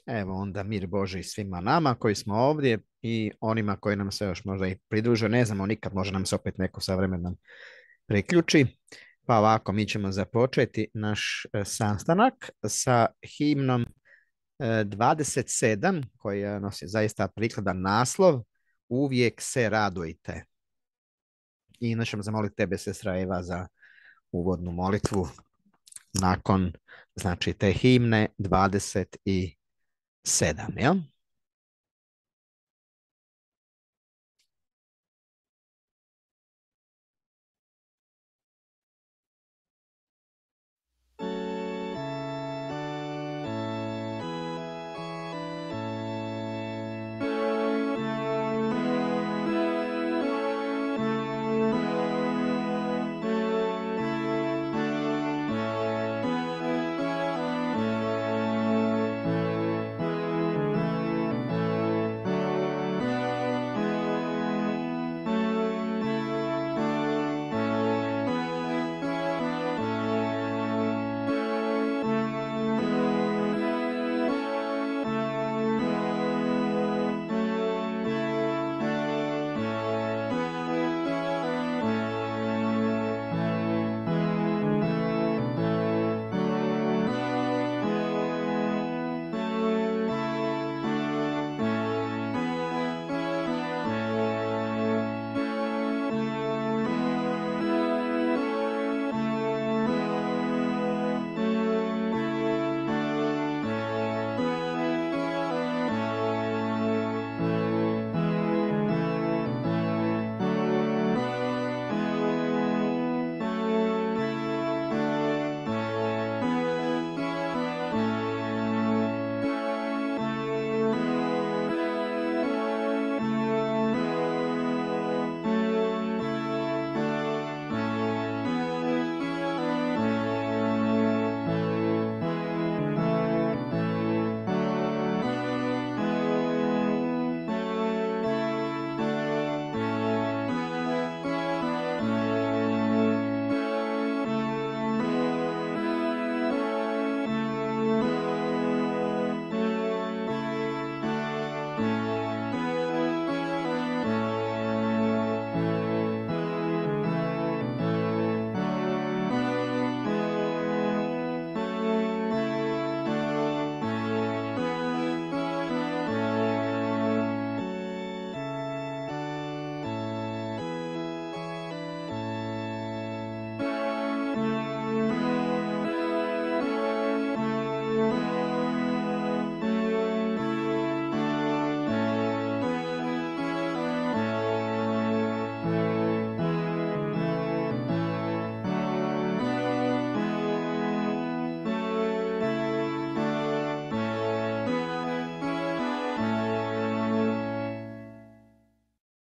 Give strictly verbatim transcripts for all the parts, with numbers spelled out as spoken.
Evo onda mir Boži svima nama koji smo ovdje i onima koji nam se još možda i pridruže. Ne znamo nikad, može nam se opet neko sa vremenom priključi. Pa ovako, mi ćemo započeti naš e, sastanak sa himnom e, dvadeset sedam koja nosi zaista prikladan naslov Uvijek se radujte. I inače ćemo zamoliti tebe, sestra Eva, za uvodnu molitvu nakon, znači, te himne dvadeset sedam, jel?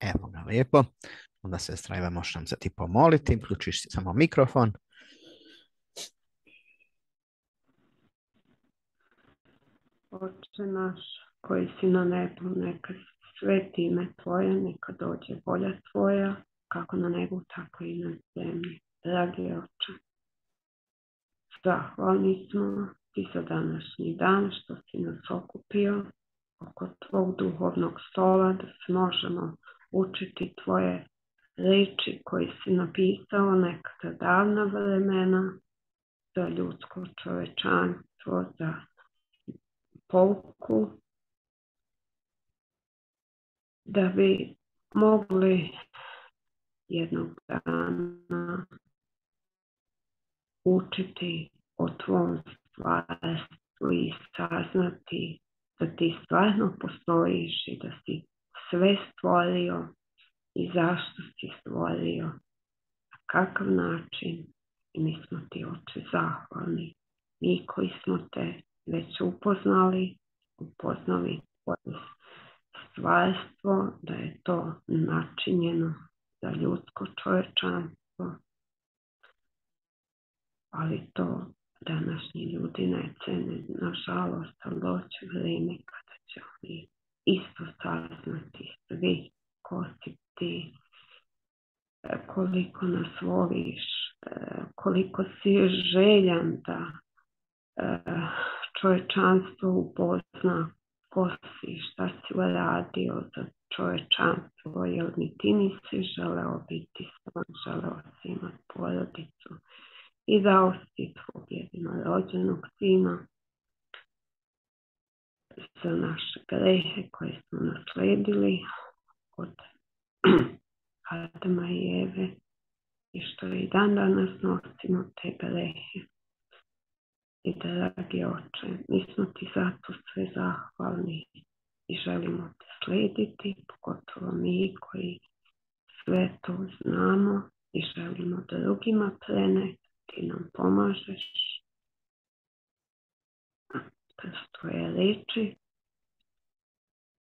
Evo ga, lijepo. Onda sestra Eva, možeš nam se ti pomoliti, uključiš si samo mikrofon. Oče naš koji si na nebu, neka sveti ime Tvoje, neka dođe volja Tvoja, kako na nebu, tako i na zemlji. Dragi Oče, zahvalni smo Ti za današnji dan što si nas okupio oko Tvog duhovnog stola, da se možemo učiti Tvoje reči koje si napisao nekada davna vremena za ljudsko čovečanstvo, za pouku, da bi mogli jednog dana učiti o Tvom stvarstvu i saznati da Ti stvarno postojiš i da si sve stvorio i zašto si stvorio, na kakav način. I mi smo Ti, Oče, zahvalni. Mi koji smo Te već upoznali, upoznali Tvoje stvarstvo, da je to načinjeno za ljudsko čovečanstvo, ali to današnji ljudi ne cene, nažalost, ali doći vrijeme kada će oni isto saznati svi ko si Ti, koliko nas voliš, koliko si željan da čovječanstvo upozna ko si, šta si uradio za čovječanstvo, jer ni ti nisi želeo biti sam, želeo si imati porodicu i dao si tvog jedinorođenog sina za naše grehe koje smo nasledili od Adama i Eve i što i dan danas nosimo te grehe. I dragi oče, mi smo ti zato sve zahvalni i želimo te slijediti, pogotovo mi koji sve to znamo i želimo drugima preneti, ti nam pomažeš kroz tvoje riječi.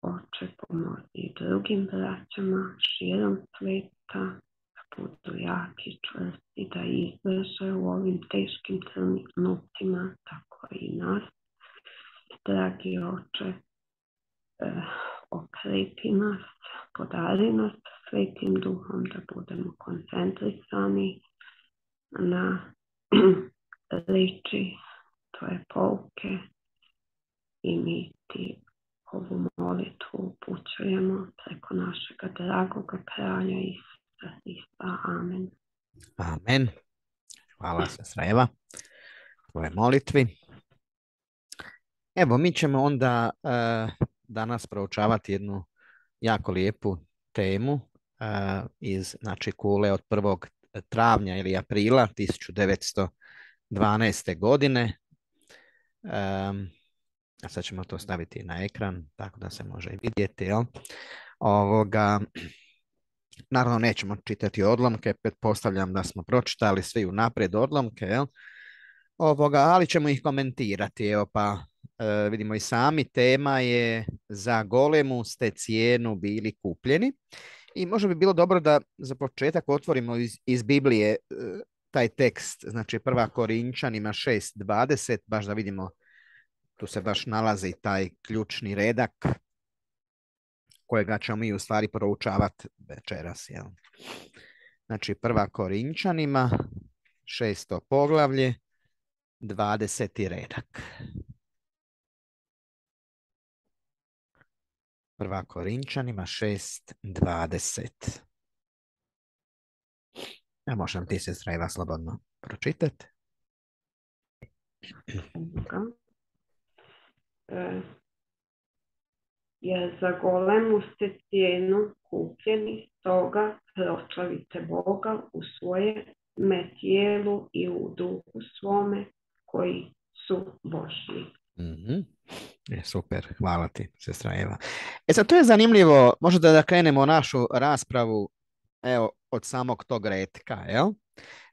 Oče, pomozi i drugim braćama širom sveta da budu jaki, čvrsti, da izdrže u ovim teškim trenucima, tako i nas. Dragi oče, eh, okreti nas, podari nas svetim duhom da budemo koncentrisani na riječi tvoje pouke i mi ti ovu molitvu upućujemo preko našega dragoga kralja Isusa Hrista. Amen. Amen. Hvala sestra Eva tvoje molitvi. Evo, mi ćemo onda uh, danas proučavati jednu jako lijepu temu uh, iz znači, kule od prvog travnja ili aprila tisuću devetsto dvanaeste. godine. Um, a sad ćemo to staviti na ekran, tako da se može i vidjeti. Jel? Ovoga, naravno, nećemo čitati odlomke, pretpostavljam da smo pročitali svi unaprijed odlomke, jel? Ovoga, ali ćemo ih komentirati. Evo pa e, vidimo i sami, tema je za golemu ste cijenu bili kupljeni. I možda bi bilo dobro da za početak otvorimo iz, iz Biblije e, taj tekst, znači prva Korinčanima šest dvadeset, baš da vidimo, tu se baš nalazi taj ključni redak kojega ćemo mi u stvari proučavati večeras. Jel? Znači prva Korinčanima, šesto poglavlje, dvadeseti redak. Prva Korinčanima šest dvadeset. Ja možem ti sestra Eva slobodno pročitati. E, jer za golemu ste cijenu kupljeni, stoga proslavite Boga u svoje tijelu i u duhu svome koji su Božji. Mm-hmm. Je, super, hvala ti, sestra Eva. E sad, to je zanimljivo, možda da krenemo našu raspravu evo, od samog tog retka. Jel?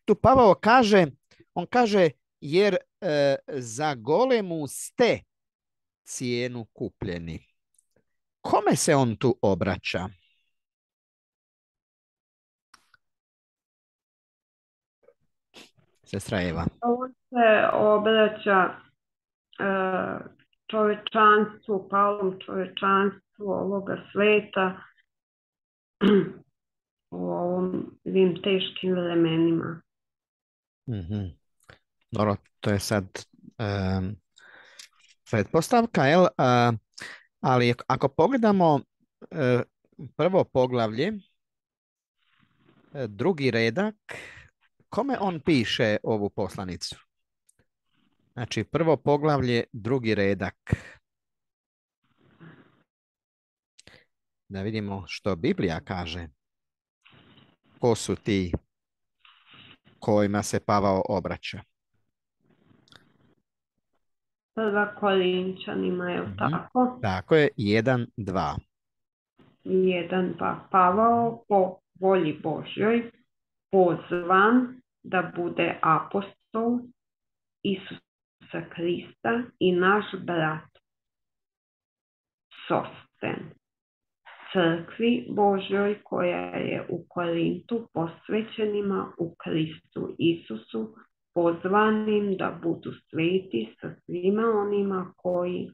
Tu Pavao kaže, on kaže, jer e, za golemu ste cijenu kupljeni. Kome se on tu obraća? Sestra Eva. On se obraća uh, čovječanstvu, palom čovječanstvu ovoga sveta u ovim teškim vremenima. Mm-hmm. Dobro, to je sad um, pretpostavka, jel? Uh, ali ako pogledamo uh, prvo poglavlje, uh, drugi redak, kome on piše ovu poslanicu? Znači, prvo poglavlje, drugi redak. Da vidimo što Biblija kaže. Ko su ti kojima se Pavao obraća? Prva Korinčanima, je li tako? Tako je, jedan, dva. jedan, dva. Pavao po volji Božjoj pozvan da bude apostol Isusa Krista i naš brat Sosten, crkvi Božjoj koja je u Korintu, posvećenima u Kristu Isusu, pozvanim da budu sveti sa svima onima koji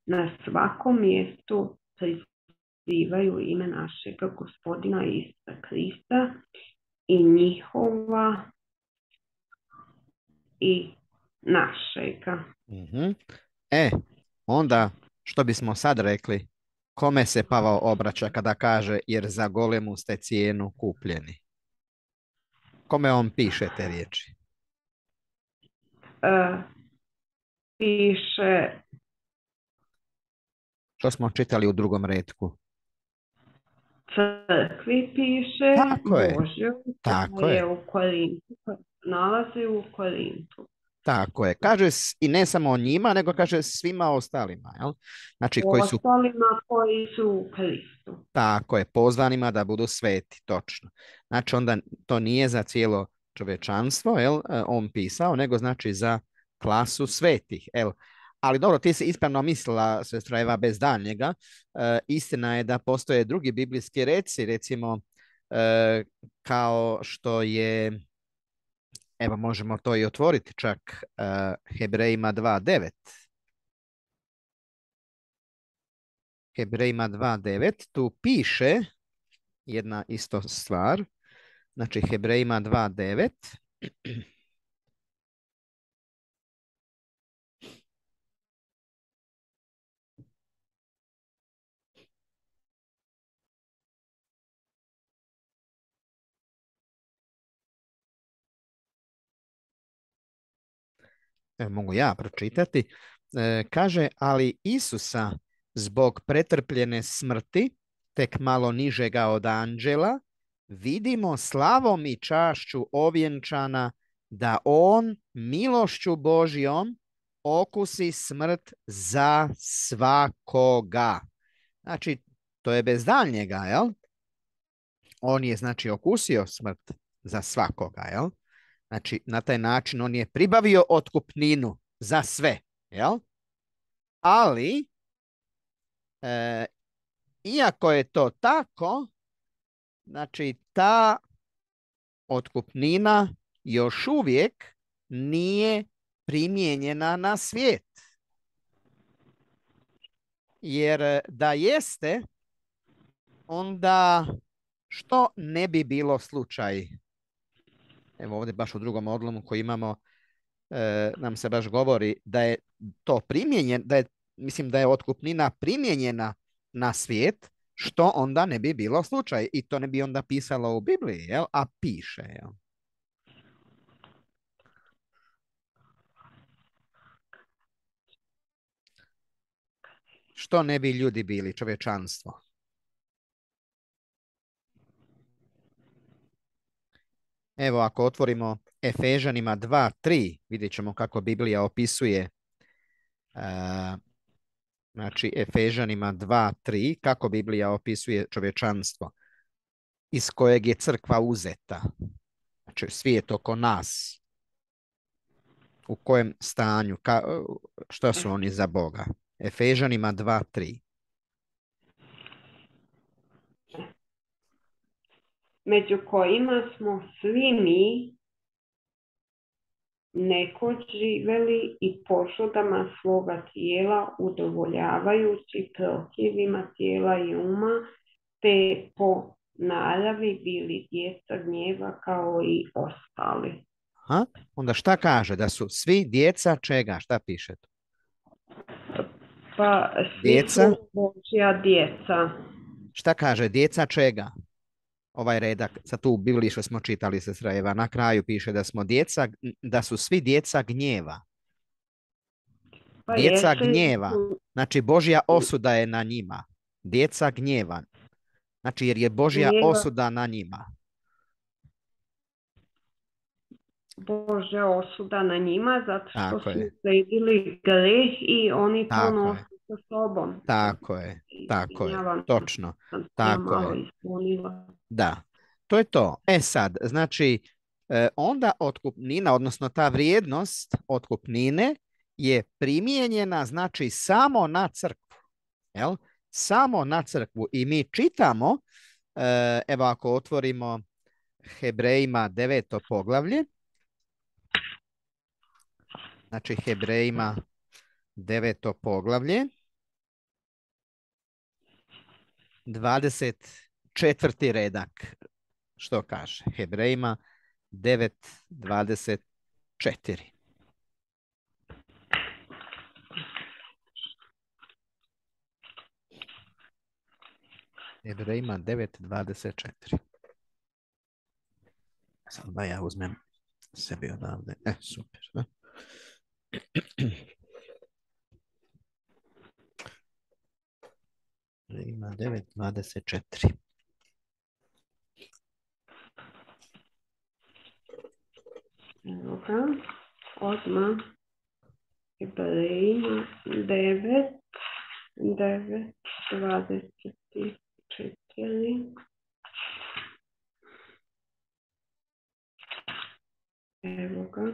na svakom mjestu prizivaju ime našega Gospodina Isusa Krista i njihova i našega. Mm-hmm. E, onda što bismo sad rekli, kome se Pavao obraća kada kaže jer za golemu ste cijenu kupljeni? Kome on piše te riječi? E, piše Što smo čitali u drugom retku? crkvi, piše Tako je, Božjoj, tako koja je, je u Korintu, koja se nalazi u Korintu. tako je. Kaže s- i ne samo o njima, nego kaže svima ostalima, jel? Znači koji su, Ostalima koji su u Kristu. tako je, pozvanima da budu sveti, točno. Znači onda to nije za cijelo čovječanstvo, jel, e, on pisao, nego znači za klasu svetih, jel. Ali dobro, ti si ispravno mislila, sestra Eva, bez daljnjega. E, istina je da postoje drugi biblijski reci, recimo e, kao što je, evo možemo to i otvoriti čak, e, Hebrejima dva devet. Hebrejima dva devet, tu piše jedna isto stvar. Znači Hebrejima dva devet. Evo, mogu ja pročitati. E, kaže, ali Isusa zbog pretrpljene smrti, tek malo nižega od anđela, vidimo slavom i čašću ovjenčana da on milošću Božjom okusi smrt za svakoga. Znači, to je bez daljnjega, jel? On je, znači, okusio smrt za svakoga, jel? Znači, na taj način on je pribavio otkupninu za sve, jel? Ali, e, iako je to tako, znači, ta otkupnina još uvijek nije primijenjena na svijet. Jer da jeste, onda što ne bi bilo slučaj? Evo ovdje baš u drugom odlomu koji imamo, e, nam se baš govori da je to primijenjen, da je, mislim da je otkupnina primijenjena na svijet, što onda ne bi bilo slučaj. I to ne bi onda pisalo u Bibliji, jel? A piše, jel? Što ne bi ljudi bili, čovječanstvo? Evo, ako otvorimo Efežanima dva tri, vidjet ćemo kako Biblija opisuje, uh, znači Efežanima dva tri, kako Biblija opisuje čovječanstvo iz kojeg je crkva uzeta. Znači svijet oko nas. U kojem stanju, ka, što su oni za Boga? Efežanima dva tri. Među kojima smo svi mi nekoć živeli i požudama svoga tijela, udovoljavajući prohtjevima tijela i uma, te po naravi bili djeca gnjeva kao i ostali. Aha. Onda šta kaže? Da su svi djeca čega? Šta piše tu? Pa svi Djeca? su Božja djeca. Šta kaže? Djeca čega? Ovaj redak, sad tu u Bibliji što smo čitali, sestra Eva, na kraju piše da smo djeca, da su svi djeca gnjeva. Pa Djeca jeste, gnjeva. Znači Božja osuda je na njima. Djeca gnjeva. Znači jer je Božja gnjeva osuda na njima. Božja osuda na njima zato što Tako su je. sledili greh i oni to Tako je. nose sa sobom. Tako je. Tako je. Izvinjavam se, Točno. sam se ja Tako malo je. ispunila. Da. To je to. E sad, znači, e, onda otkupnina, odnosno ta vrijednost otkupnine je primijenjena, znači, samo na crkvu. Jel? Samo na crkvu. I mi čitamo, e, evo ako otvorimo Hebrejima deveto poglavlje, znači Hebrejima deveto poglavlje, dvadeset četvrti redak, što kaže? Hebrejima devet dvadeset četiri. Jevrejima devet dvadeset četiri. Sad da ja uzmem sebi odavde. E, super. Da? Jevrejima devet dvadeset četiri. Evo ga, odmah. Jevrejima devet, devet, dvadeset četiri. Evo ga.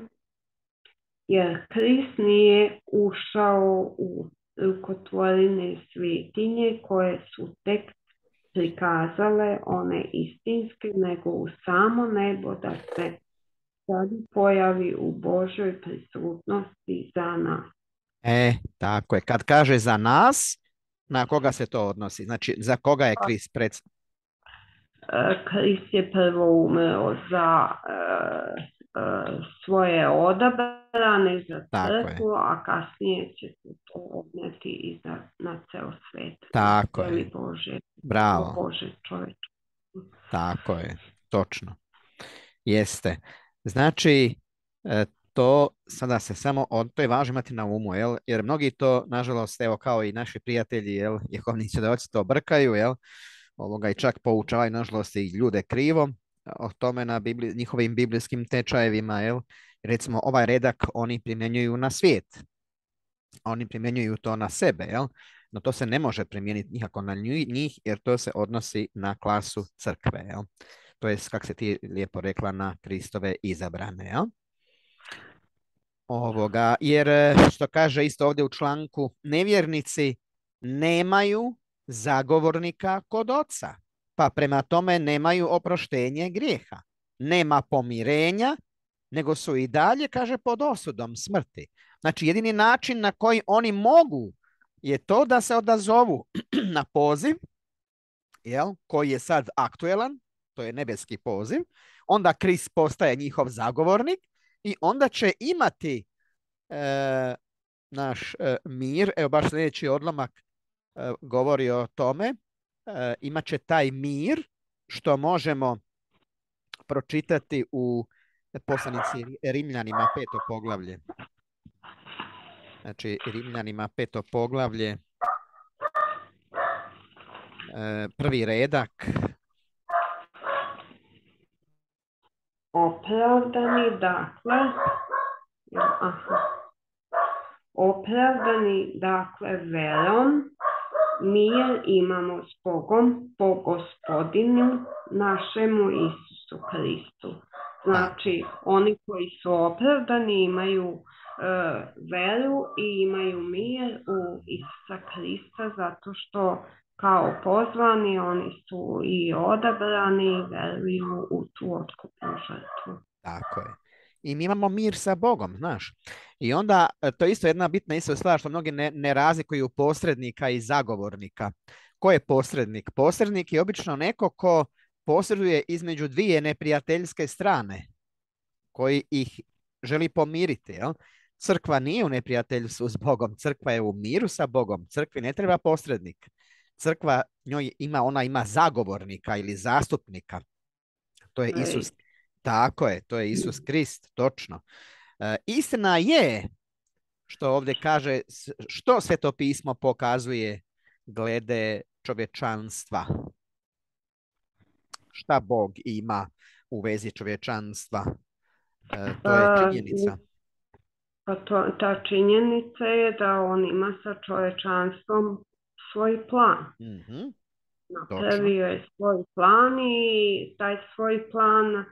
Jer Krist nije ušao u rukotvorine svetinje koje su tek prikazale one istinske, nego u samo nebo da se sad pojavi u Božoj prisutnosti za nas. E, tako je. Kad kaže za nas, na koga se to odnosi? Znači, za koga je Krist pred... Krist je prvo umro za uh, uh, svoje odabrane, za crkvu, a kasnije će se to odneti i za, na ceo svet. Tako je. Bože, Bravo. Bože čovječ. Tako je. Točno. Jeste. Znači, to sada se samo, to je važno imati na umu, jel? Jer mnogi to, nažalost, evo kao i naši prijatelji, jel, jehovni svjedoci to brkaju, jel? Ovoga i čak poučavaju, nažalost, i ljude krivo o tome na bibli, njihovim biblijskim tečajevima, jel? Recimo, ovaj redak oni primjenjuju na svijet. Oni primjenjuju to na sebe, jel? No to se ne može primijeniti nikako na njih, jer to se odnosi na klasu crkve, jel? To je, kako se ti lijepo rekla, na Kristove izabrane, jel? Ovoga, jer što kaže isto ovdje u članku, nevjernici nemaju zagovornika kod oca, pa prema tome nemaju oproštenje grijeha. Nema pomirenja, nego su i dalje, kaže, pod osudom smrti. Znači, jedini način na koji oni mogu je to da se odazovu na poziv, jel, koji je sad aktuelan, to je nebeski poziv, onda Krist postaje njihov zagovornik i onda će imati e, naš e, mir. Evo baš sljedeći odlomak e, govori o tome. E, imat će taj mir što možemo pročitati u poslanici Rimljanima peto poglavlje. Znači Rimljanima peto poglavlje, e, prvi redak. Opravdani, dakle, aha, opravdani, dakle, verom, mir imamo s Bogom, po Gospodinu našemu Isusu Kristu. Znači, oni koji su opravdani imaju uh, veru i imaju mir u Isusa Krista, zato što kao pozvani oni su i odabrani i veruju u tu otkupnu žrtvu. Tako je. I mi imamo mir sa Bogom, znaš. I onda, to je isto jedna bitna isto stvar što mnogi ne, ne razlikuju posrednika i zagovornika. Ko je posrednik? Posrednik je obično neko ko posreduje između dvije neprijateljske strane, koji ih želi pomiriti. Jel? Crkva nije u neprijateljstvu s Bogom, crkva je u miru sa Bogom, crkvi ne treba posrednik. Crkva njoj ima, ona ima zagovornika ili zastupnika. To je Isus. Tako je, to je Isus Krist, točno. E, istina je, što ovdje kaže, što Sveto pismo pokazuje glede čovječanstva. Šta Bog ima u vezi čovječanstva? E, to je činjenica. Pa to, ta činjenica je da on ima sa čovječanstvom svoj plan. Mm-hmm. Napravio je svoj plan i taj svoj plan uh,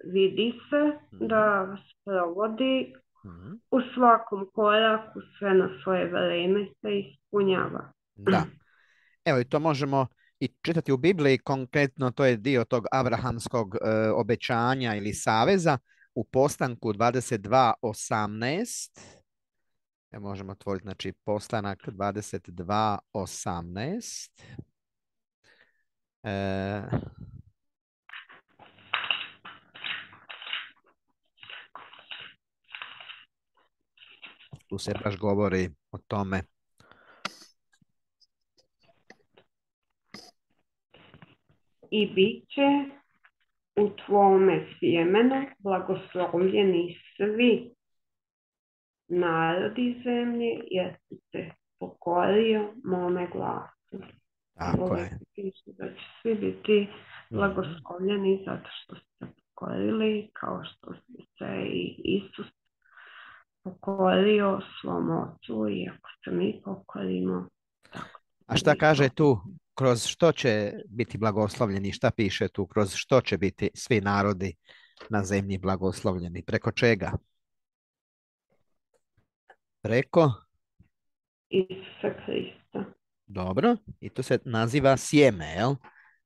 vidi se mm-hmm. da sprovodi mm-hmm. u svakom koraku, sve na svoje vrijeme se ispunjava. Da. Evo i to možemo i čitati u Bibliji, konkretno to je dio tog abrahamskog uh, obećanja ili saveza u Postanku dvadeset dva osamnaest. Evo možemo otvoriti, znači Postanak dvadeset dva osamnaest. E... Tu se baš govori o tome. i bit će u tvome sjemenu blagoslovljeni svi narodi zemlje, jer si se pokorio mome glasu. Tako je. Piše da će svi biti blagoslovljeni zato što su se pokorili, kao što se i Isus pokorio svom ocu, i ako se mi pokorimo, tako. A šta kaže tu? Kroz što će biti blagoslovljeni? Šta piše tu? Kroz što će biti svi narodi na zemlji blagoslovljeni? Preko čega? Preko? Isusa Krista. Dobro. I to se naziva sjeme, jel?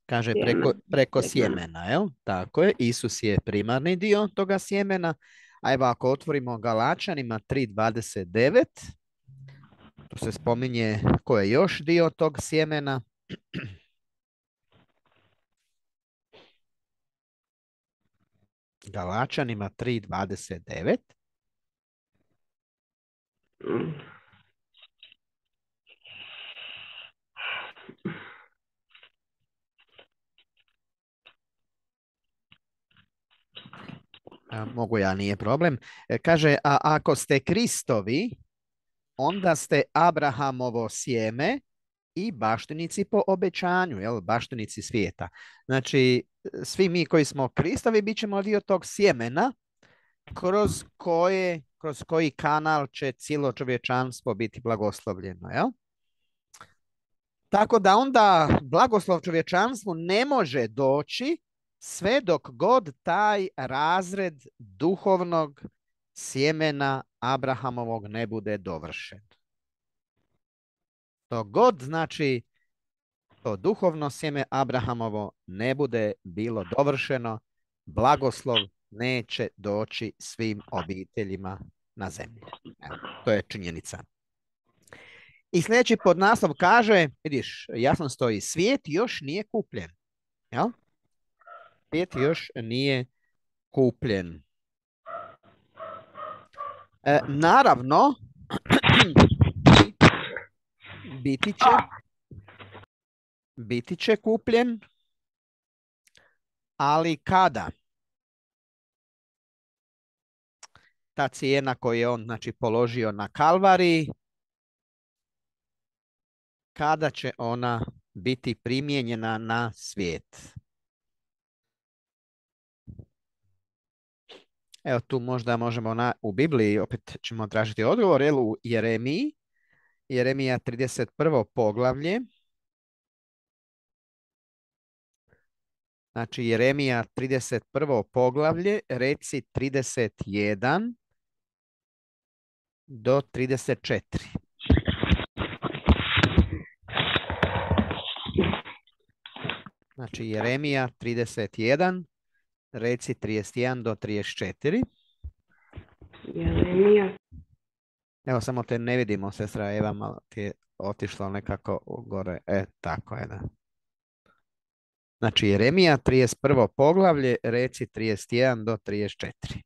Kaže preko, preko sjemena, jel? Tako je. Isus je primarni dio toga sjemena. A evo ako otvorimo Galačanima tri dvadeset devet, tu se spominje ko je još dio tog sjemena. Galačanima tri dvadeset devet. Mogu ja, nije problem. Kaže, a ako ste Kristovi, onda ste Abrahamovo sjeme i baštinici po obećanju, jel? Baštinici svijeta. Znači, svi mi koji smo Kristovi bit ćemo dio tog sjemena kroz, koje, kroz koji kanal će cijelo čovječanstvo biti blagoslovljeno. Jel? Tako da onda blagoslov čovječanstvu ne može doći sve dok god taj razred duhovnog sjemena Abrahamovog ne bude dovršen. Dok god, znači, to duhovno sjeme Abrahamovo ne bude bilo dovršeno, blagoslov neće doći svim obiteljima na zemlji. Evo, to je činjenica. I sljedeći podnaslov kaže, vidiš, jasno stoji, svijet još nije kupljen. Jel? Svijet još nije kupljen. E, naravno, biti će, biti će kupljen, ali kada? Ta cijena koju je on, znači, položio na Kalvariji, kada će ona biti primijenjena na svijet? Evo tu možda možemo na, u Bibliji, opet ćemo tražiti odgovor, jel, u Jeremiji, Jeremija trideset prvo poglavlje. Znači Jeremija trideset prvo poglavlje, reci trideset jedan do trideset četiri. Znači Jeremija trideset jedan, reci trideset jedan do trideset četiri. Jeremija. Evo samo te ne vidimo, sestra Eva, malo ti je otišlo nekako gore. E, tako je, da. Znači Jeremija trideset prvo poglavlje, reci trideset jedan do trideset četiri.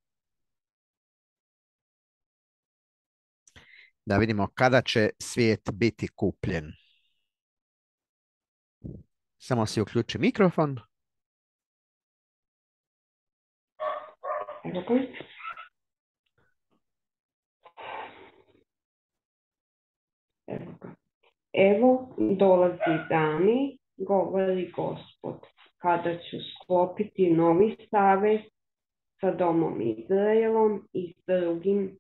Da vidimo kada će svijet biti kupljen. Samo si uključi mikrofon. Evo dolazi dani, govori Gospod, kada ću sklopiti novi savez sa domom Izraelom i s drugim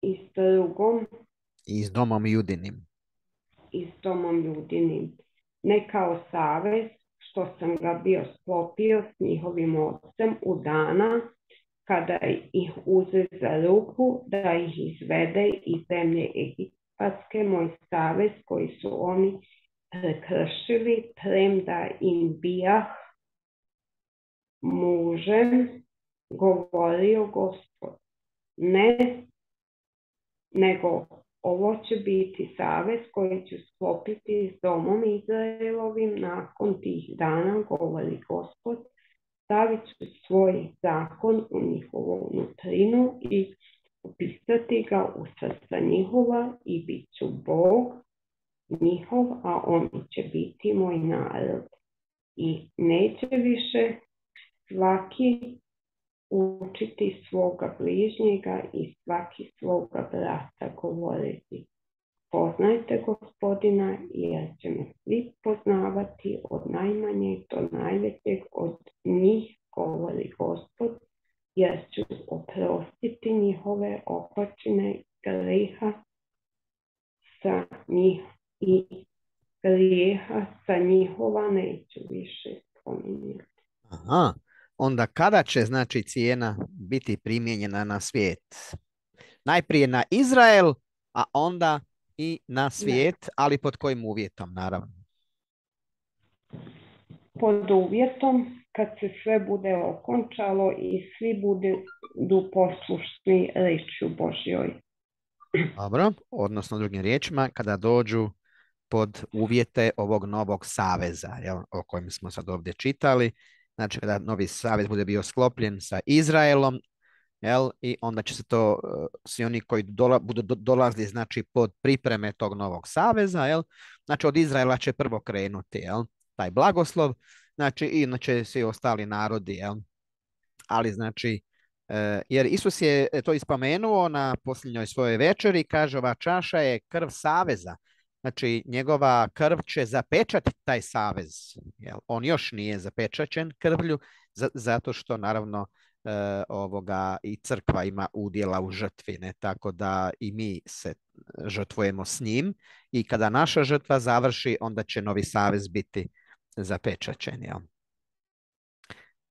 i s drugom i s domom Judinim. I s domom Judinim. Ne kao savez što sam ga bio sklopio s njihovim ocem u dana kada ih uze za ruku da ih izvede iz zemlje Egipatske, moj savez koji su oni prekršili, premda im bijah mužem, govorio Gospod. Ne, nego ovo će biti savez koji ću sklopiti s domom Izraelovim nakon tih dana, govori Gospod. Stavit ću svoj zakon u njihovu nutrinu i upisati ga u srca njihova i bit ću Bog njihov, a oni će biti moj narod. I neće više svaki učiti svoga bližnjega i svaki svoga brata govoriti: poznajte Gospodina, jer će me svi poznavati od najmanjeg do najvećeg od njih, govori Gospod, jer ću oprostiti njihove opačine grijeha sa njih i grijeha sa njihova neću više spominjati. Aha. Onda kada će, znači, cijena biti primijenjena na svijet? Najprije na Izrael, a onda i na svijet, ali pod kojim uvjetom, naravno? Pod uvjetom kad se sve bude okončalo i svi budu poslušni riječju Božjoj. Dobro, odnosno drugim riječima, kada dođu pod uvjete ovog novog saveza, jel, o kojem smo sad ovdje čitali. Znači, kada novi savez bude bio sklopljen sa Izraelom, jel, i onda će se to, uh, svi oni koji dola, budu do, dolazili, znači, pod pripreme tog novog saveza, jel, znači, od Izraela će prvo krenuti, jel, taj blagoslov, znači, i inače svi ostali narodi, jel, ali, znači, uh, jer Isus je to ispomenuo na posljednjoj svojoj večeri, kaže, ova čaša je krv saveza. Znači, njegova krv će zapečati taj savez. Jel? On još nije zapečaćen krvlju, zato što, naravno, e, ovoga i crkva ima udjela u žrtvi, ne? Tako da i mi se žrtvujemo s njim i kada naša žrtva završi, onda će novi savez biti zapečaćen. Jel?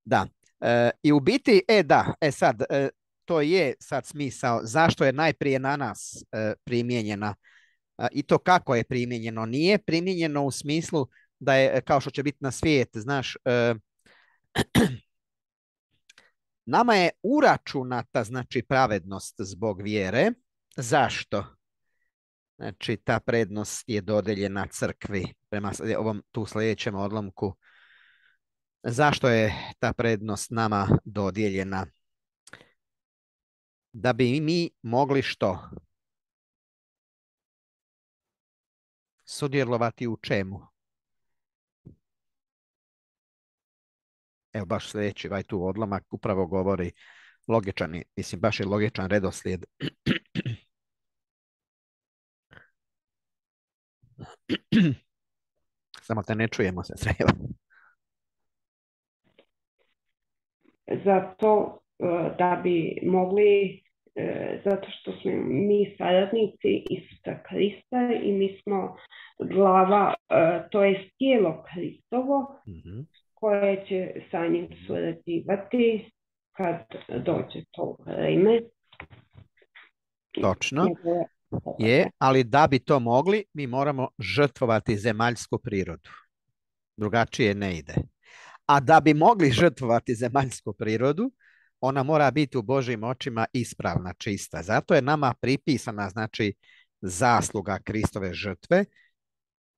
Da. E, I u biti, e da, e sad, e, to je sad smisao zašto je najprije na nas e, primijenjena. I to kako je primijenjeno. Nije primijenjeno u smislu da je, kao što će biti na svijet, znaš, e, nama je uračunata, znači, pravednost zbog vjere. Zašto? Znači, ta prednost je dodeljena crkvi prema ovom tu sljedećem odlomku. Zašto je ta prednost nama dodijeljena? Da bi mi mogli što? Sudjelovati u čemu? Evo, baš sljedeći ovaj tu odlomak upravo govori logičan, mislim, baš je logičan redoslijed. Samo te ne čujemo se treba. Zato da bi mogli, zato što smo mi saradnici Isusa Krista i mi smo glava, to je tijelo Kristovo, mm-hmm. koje će sa njim surađivati kad dođe to vrijeme. Točno. Je, ali da bi to mogli, mi moramo žrtvovati zemaljsku prirodu. Drugačije ne ide. A da bi mogli žrtvovati zemaljsku prirodu, ona mora biti u Božjim očima ispravna, čista. Zato je nama pripisana, znači, zasluga Kristove žrtve,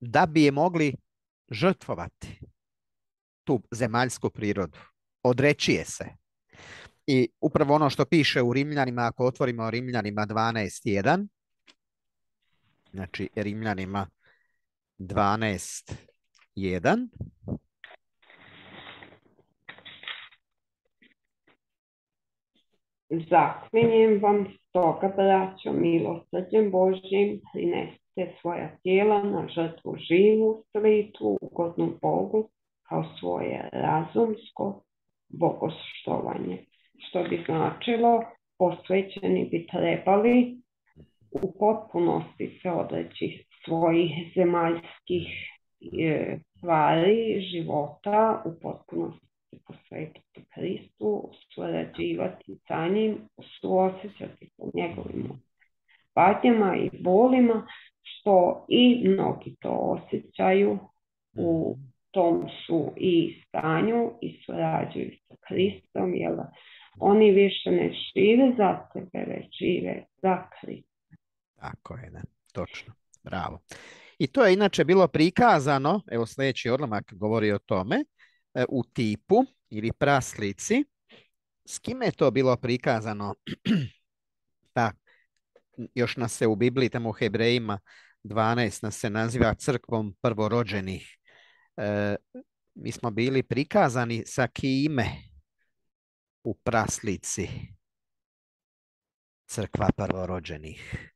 da bi je mogli žrtvovati, tu zemaljsku prirodu. Odreći je se. I upravo ono što piše u Rimljanima, ako otvorimo Rimljanima dvanaest jedan, znači Rimljanima dvanaest jedan, zaklinjem vam stoga, braćo, milosrđem Božjim, prinesite svoja tijela na žrtvu živu, svitu, ugodnu Bogu, kao svoje razumsko bogoštovanje. Što bi značilo, posvećeni bi trebali u potpunosti se odreći svojih zemaljskih e, stvari, života, u potpunosti posvetiti Kristu, surađivati sa njim, suosjećati sa njegovim patnjama i bolima, što i mnogi to osjećaju, u tom su i stanju i surađuju sa Kristom, jer oni više ne žive za sebe, već žive za Krista. Tako je, ne, točno, bravo. I to je inače bilo prikazano, evo sljedeći odlomak govori o tome, u tipu ili praslici. S kime je to bilo prikazano? Da, još nas se u Bibliji, tamo u Hebrejima dvanaest nas se naziva crkvom prvorođenih. E, mi smo bili prikazani sa kime u praslici crkva prvorođenih.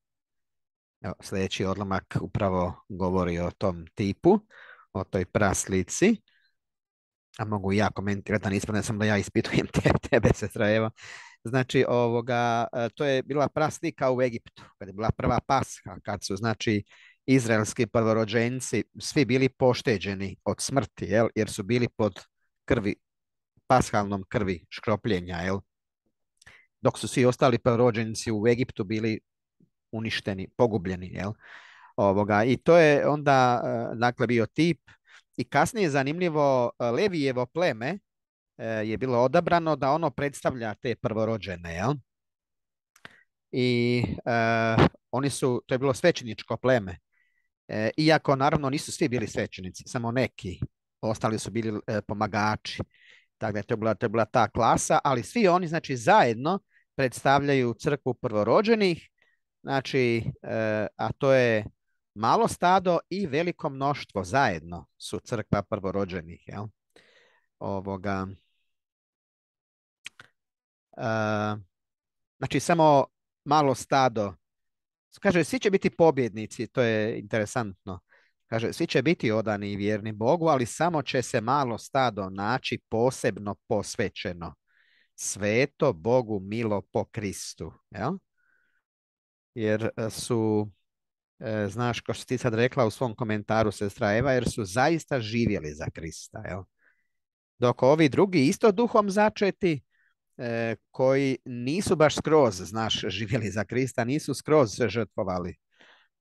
Evo, sljedeći odlomak upravo govori o tom tipu, o toj praslici. A mogu ja komentirati, da nisam, ne sam da ja ispitujem te, tebe, sestra Eva. Znači, ovoga, to je bila praslika u Egiptu, kad je bila prva Pasha, kad su, znači, izraelski prvorođenci svi bili pošteđeni od smrti, jel? Jer su bili pod krvi, pashalnom krvi škropljenja, jel? Dok su svi ostali prvorođenci u Egiptu bili uništeni, pogubljeni, jel? Ovoga, i to je onda, dakle, bio tip. I kasnije, zanimljivo, Levijevo pleme je bilo odabrano da ono predstavlja te prvorođene, jel? I uh, oni su, to je bilo svećeničko pleme. E, iako, naravno, nisu svi bili svećenici, samo neki. Ostali su bili e, pomagači. Tako da je to bila, to je bila ta klasa, ali svi oni, znači, zajedno predstavljaju crkvu prvorođenih, znači, e, a to je malo stado i veliko mnoštvo zajedno su crkva prvorođenih, jel? Ovoga. Uh, znači, samo malo stado. Kaže, svi će biti pobjednici, to je interesantno. Kaže, svi će biti odani i vjerni Bogu, ali samo će se malo stado naći posebno posvećeno. Sveto, Bogu milo po Kristu. Jel? Jer su, e, znaš, kao što ti sad rekla u svom komentaru, sestra Eva, jer su zaista živjeli za Krista. Jel? Dok ovi drugi isto duhom začeti, e, koji nisu baš skroz, znaš, živjeli za Krista, nisu skroz se žrtvovali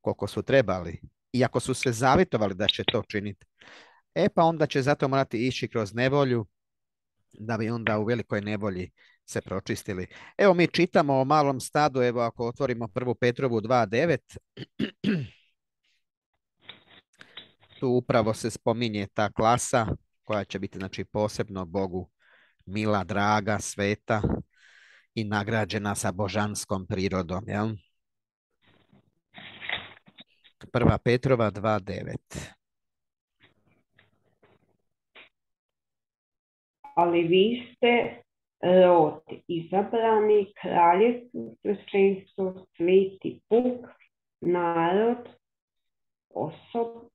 koliko su trebali. Iako su se zavjetovali da će to činiti. E pa onda će zato morati ići kroz nevolju, da bi onda u velikoj nevolji se pročistili. Evo mi čitamo o malom stadu, evo ako otvorimo prvu Petrovu dva devet, tu upravo se spominje ta klasa koja će biti, znači, posebno Bogu mila, draga, sveta i nagrađena sa božanskom prirodom. Jel? Prva Petrova dva devet. Ali vi ste rod izabrani, kraljevstvo, sveštenstvo, sveti puk, narod, osobiti,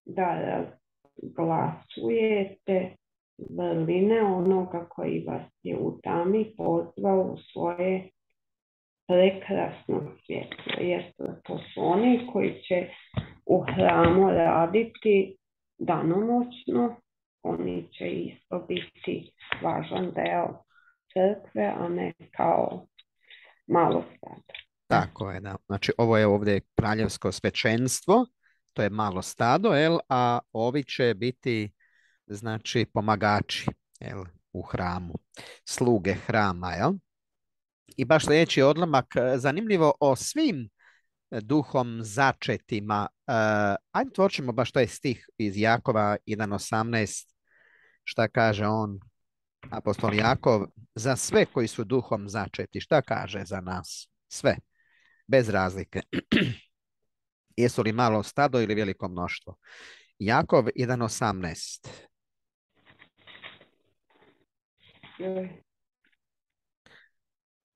da razglasujete vrline onoga koji vas je u tami pozvao u svoje prekrasno svjetlo. Jer to su oni koji će u hramu raditi danonoćno. Oni će isto biti važan deo crkve, a ne kao malo stado. Tako je, da. Znači, ovo je ovdje kraljevsko svečenstvo, to je malo stado, jel? A ovi će biti, znači, pomagači, jel? U hramu, sluge hrama, jel? I baš sljedeći odlomak, zanimljivo o svim duhom začetima. Uh, ajde tvorčimo baš taj stih iz Jakova jedan osamnaest, šta kaže on, apostol Jakov, za sve koji su duhom začeti. Šta kaže za nas? Sve, bez razlike. Jesu li malo stado ili veliko mnoštvo? Jakov jedan osamnaest.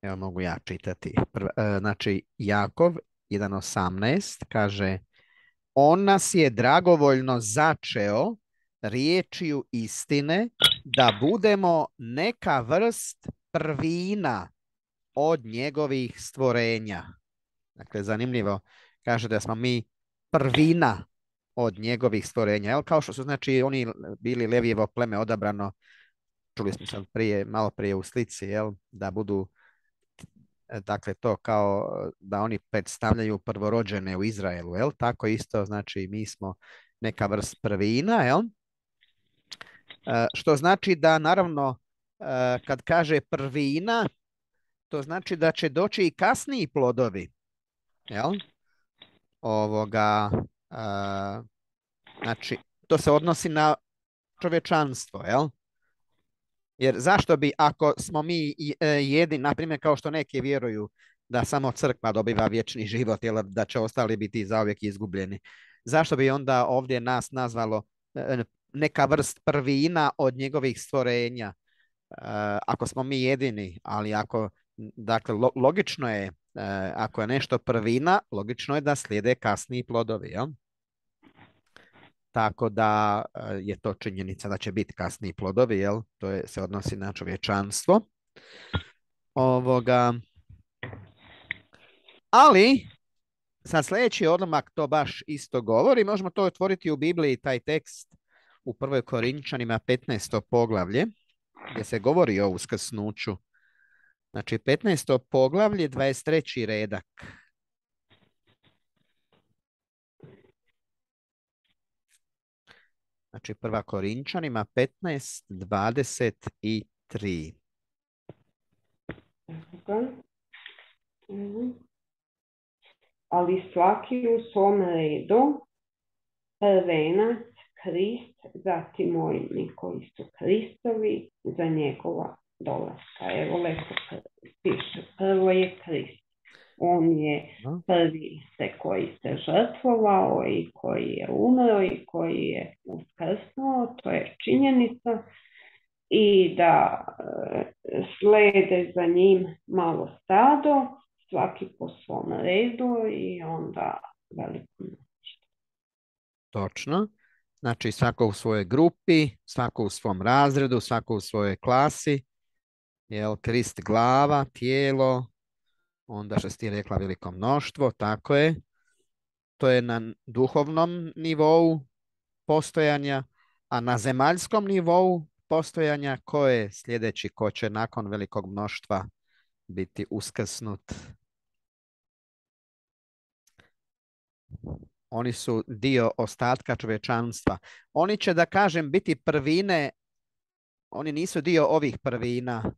Evo mogu ja čitati. Prva, znači, Jakov jedan osamnaest kaže: on nas je dragovoljno začeo riječju istine da budemo neka vrst prvina od njegovih stvorenja. Dakle, zanimljivo, kaže da smo mi prvina od njegovih stvorenja. Jel? Kao što su, znači, oni bili Levijevo pleme odabrano, čuli smo sad prije, malo prije u slici, jel? Da budu, dakle, to kao da oni predstavljaju prvorođene u Izraelu, jel? Tako isto, znači, mi smo neka vrst prvina, jel? E, što znači da, naravno, e, kad kaže prvina, to znači da će doći i kasniji plodovi, jel? Ovoga, e, znači, to se odnosi na čovječanstvo, jel? Jer zašto bi, ako smo mi jedini, na primjer, kao što neki vjeruju, da samo crkva dobiva vječni život, jer da će ostali biti zauvijek izgubljeni. Zašto bi onda ovdje nas nazvalo e, neka vrst prvina od njegovih stvorenja? E, ako smo mi jedini, ali ako, dakle, lo, logično je, e, ako je nešto prvina, logično je da slijede kasniji plodovi, jel? Tako da e, je to činjenica da će biti kasniji plodovi, jel? To je, se odnosi na čovječanstvo. Ovoga, ali sad sljedeći odlomak to baš isto govori. Možemo to otvoriti u Bibliji, taj tekst u prvoj Korinčanima petnaesto poglavlje, gdje se govori o uskrsnuću. Znači petnaesto poglavlje, dvadeset treći redak. Znači prva Korinčanima petnaest, dvadeset tri. Ali svaki u svom redu, prvenac Krist, zatim oni koji su Kristovi za njegova dolaska. Evo lepo piše, prvo je Krist. On je prvi se koji se žrtvovao i koji je umro i koji je uskrsnuo, to je činjenica. I da e, slede za njim malo stado, svaki po svom redu i onda veliko mnoštvo. Točno. Znači svako u svojoj grupi, svako u svom razredu, svako u svojoj klasi. Jel, Krist glava, tijelo, onda što si ti rekla veliko mnoštvo, tako je. To je na duhovnom nivou postojanja, a na zemaljskom nivou postojanja ko je sljedeći, ko će nakon velikog mnoštva biti uskrsnut. Oni su dio ostatka čovječanstva. Oni će, da kažem, biti prvine, oni nisu dio ovih prvina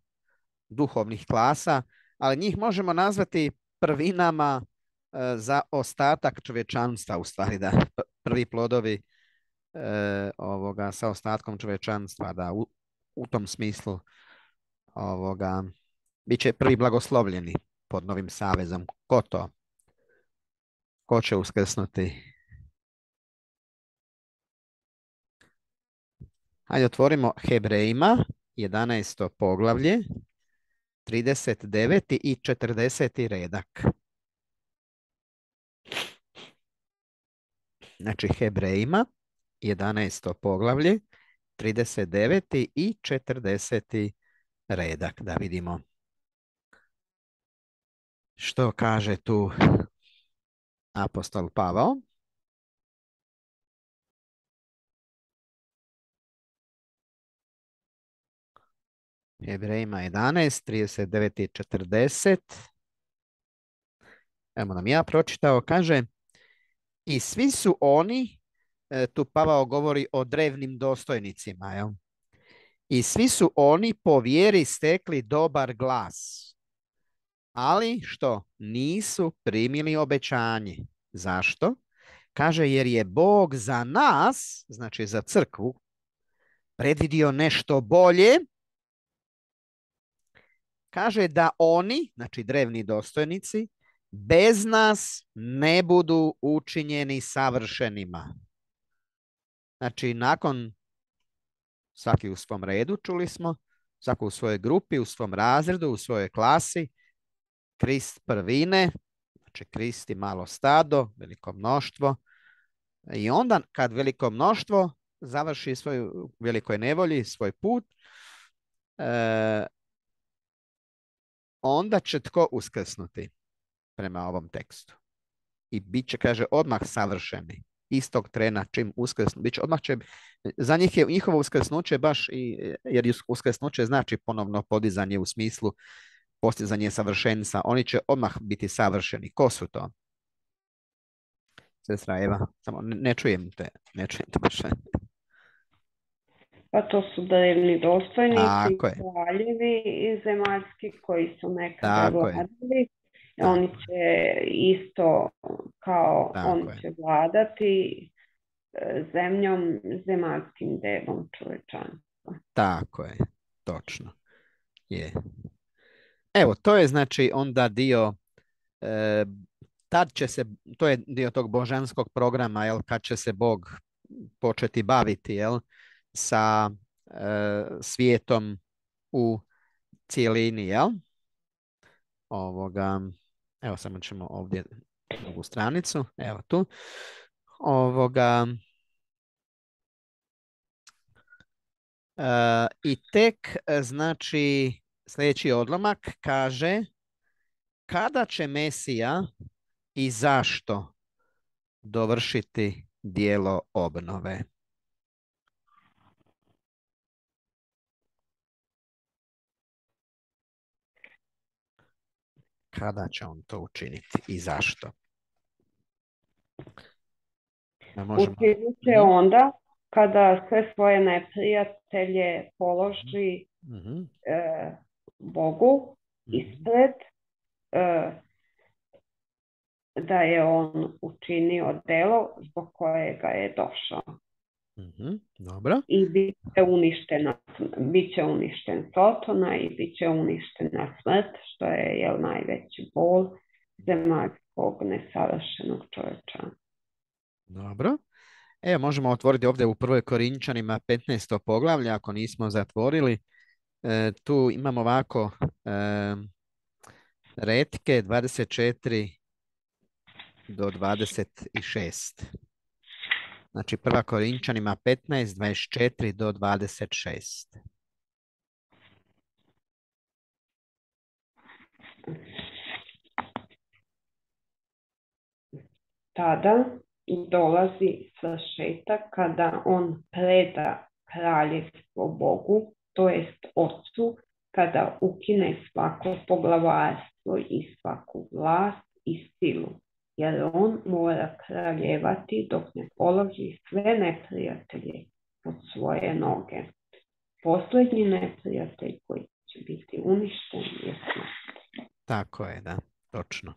duhovnih klasa, ali njih možemo nazvati prvinama e, za ostatak čovječanstva, u stvari, da prvi plodovi e, ovoga sa ostatkom čovječanstva, da u, u tom smislu ovoga bit će prvi blagoslovljeni pod novim savezom. Ko to? Ko će uskrsnuti? Hajde otvorimo Hebrejima, jedanaesto poglavlje, trideset deveti i četrdeseti redak. Znači Hebrejima, jedanaesto poglavlje, trideset deveti i četrdeseti redak. Da vidimo što kaže tu apostol Pavao. Hebrejima jedanaest, trideset devet i četrdeset. Evo nam ja pročitao, kaže: i svi su oni, e, tu Pavao govori o drevnim dostojnicima, jel? I svi su oni po vjeri stekli dobar glas. Ali što? Nisu primili obećanje. Zašto? Kaže, jer je Bog za nas, znači za crkvu, predvidio nešto bolje. Kaže da oni, znači drevni dostojnici, bez nas ne budu učinjeni savršenima. Znači nakon, svaki u svom redu, čuli smo, svako u svojoj grupi, u svom razredu, u svojoj klasi, Krist prvine, znači Krist i malo stado, veliko mnoštvo. I onda kad veliko mnoštvo završi svoju velikoj nevolji, svoj put, e, onda će tko uskrsnuti prema ovom tekstu? I bit će, kaže, odmah savršeni. Istog trena čim uskrsnu, bit će, odmah će, za njih je njihovo uskrsnuće baš, i, jer uskrsnuće znači ponovno podizanje u smislu postizanje savršenstva. Oni će odmah biti savršeni. Ko su to? Sestra Eva, samo ne, ne čujem te, ne čujem te baš. Pa to su drevni dostojnici, kraljevi i zemaljski koji su nekada vladali. Oni će isto kao Tako oni je. će vladati zemljom, zemaljskim delom čovječanstva. Tako je, točno. Je. Evo, to je znači onda dio e, tad će se, to je dio tog božanskog programa, jel, kad će se Bog početi baviti, jel, sa e, svijetom u cijelini, jel? Ovoga, evo samo ćemo ovdje drugu stranicu, evo tu. Ovoga, e, i tek, znači, sljedeći odlomak kaže kada će Mesija i zašto dovršiti dijelo obnove. Kada će on to učiniti i zašto? Možemo... Učinit će onda kada sve svoje neprijatelje položi mm-hmm. e, Bogu ispred, e, da je on učinio delo zbog kojega je došao. Mm-hmm. Dobro. I bit će uništena, bit će uništen Sotona i bit će uništena smrt, što je jel, najveći bol zemaljskog nesavršenog čovječa. Dobro. Evo, možemo otvoriti ovdje u prvoj Korinčanima petnaesto poglavlje, ako nismo zatvorili. E, tu imamo ovako e, retke dvadeset četiri do dvadeset šest. Znači, prva Korinčanima petnaest, dvadeset četiri do dvadeset šest. Tada dolazi svršetak kada on preda kraljevstvo Bogu, to jest Otcu, kada ukine svako poglavarstvo i svaku vlast i silu, jer on mora kraljevati dok ne položi sve neprijatelje pod svoje noge. Posljednji neprijatelj koji će biti uništen je smrt. Tako je, da, točno.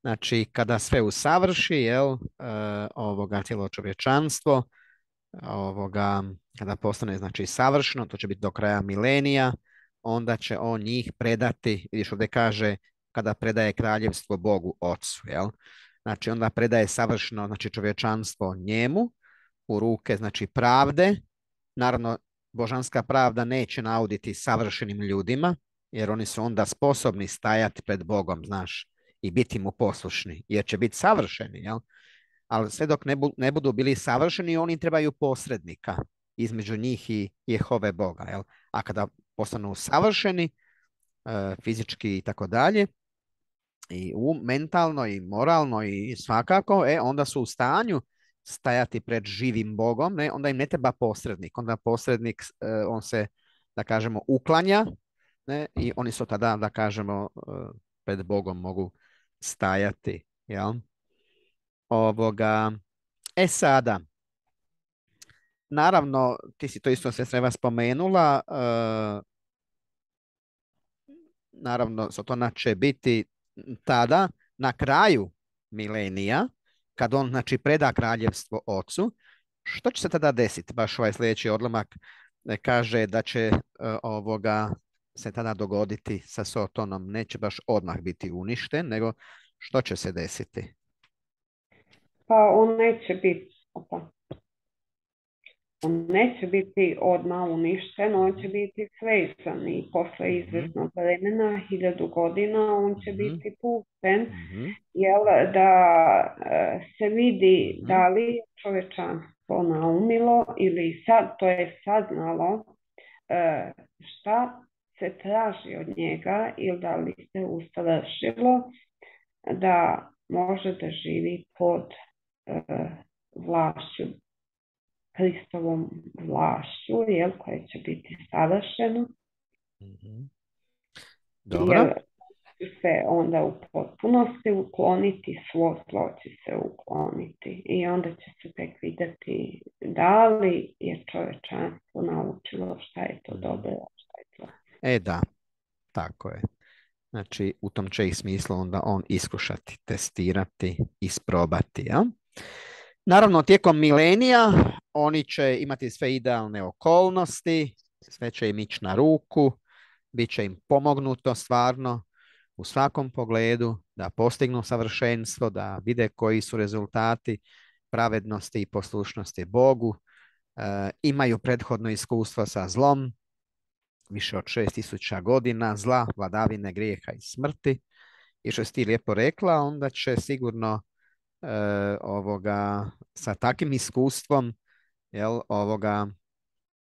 Znači, kada sve usavrši, jel, uh, ovoga cijelo čovječanstvo, ovoga, kada postane, znači, savršeno, to će biti do kraja milenija, onda će on njih predati, vidiš ovdje kaže, kada predaje kraljevstvo Bogu Otcu, jel? Znači, onda predaje savršeno, znači, čovječanstvo njemu, u ruke, znači, pravde. Naravno, božanska pravda neće nauditi savršenim ljudima, jer oni su onda sposobni stajati pred Bogom, znaš, i biti mu poslušni, jer će biti savršeni, jel? Ali sve dok ne, bu, ne budu bili savršeni, oni trebaju posrednika između njih i Jehove Boga, jel? A kada postanu savršeni, e, fizički i tako dalje, i u, mentalno i moralno i svakako, e, onda su u stanju stajati pred živim Bogom, ne? Onda im ne treba posrednik, onda posrednik, e, on se, da kažemo, uklanja, ne? I oni su tada, da kažemo, e, pred Bogom mogu stajati, jel? Ovoga, e sada, naravno, ti si to isto sve treba spomenula, uh, naravno, Sotona će biti tada, na kraju milenija, kad on, znači, preda kraljevstvo Otcu. Što će se tada desiti? Baš ovaj sljedeći odlomak kaže da će uh, ovoga se tada dogoditi sa Sotonom. Neće baš odmah biti uništen, nego što će se desiti? Pa on neće biti, opa. On neće biti odmah uništen, on će biti svezan i posle izvesnog vremena, hiljadu godina, on će mm-hmm. biti pušten, mm-hmm. jel, da se vidi mm-hmm. da li je čovječanstvo naumilo ili sad, to je saznalo šta se traži od njega ili da li se usavršilo da može da živi pod uh, vlašću, Hristovom vlašću, jel, koje će biti savršeno. Mm-hmm. Dobro. Jel, se onda u potpunosti ukloniti, svo zlo će se ukloniti i onda će se tek vidjeti da li je čovječanstvo naučilo šta je to dobro, šta je to. E da, tako je. Znači, u tom će ih smislu onda on iskušati, testirati, isprobati. Ja? Naravno, tijekom milenija oni će imati sve idealne okolnosti, sve će im ići na ruku, bit će im pomognuto stvarno, u svakom pogledu, da postignu savršenstvo, da vide koji su rezultati pravednosti i poslušnosti Bogu, e, imaju prethodno iskustvo sa zlom, više od šest tisuća godina zla, vladavine grijeha i smrti. I što si ti lijepo rekla, onda će sigurno e, ovoga, sa takvim iskustvom jel, ovoga,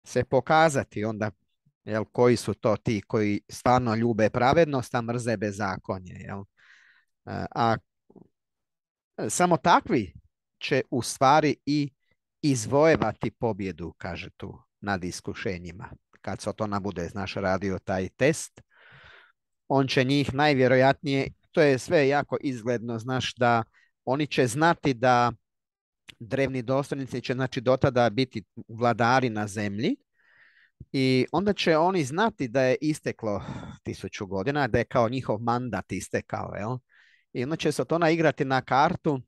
se pokazati onda jel, koji su to ti koji stvarno ljube pravednost, a mrze bezakonje. Jel? E, a samo takvi će u stvari i izvojevati pobjedu, kaže tu, nad iskušenjima. Kad se to nabude, znaš, radio taj test, on će njih najvjerojatnije, to je sve jako izgledno, znaš, da oni će znati da drevni dostojnici će, znači, do tada biti vladari na zemlji i onda će oni znati da je isteklo tisuću godina, da je kao njihov mandat istekao, jel? I onda će se to naigrati na kartu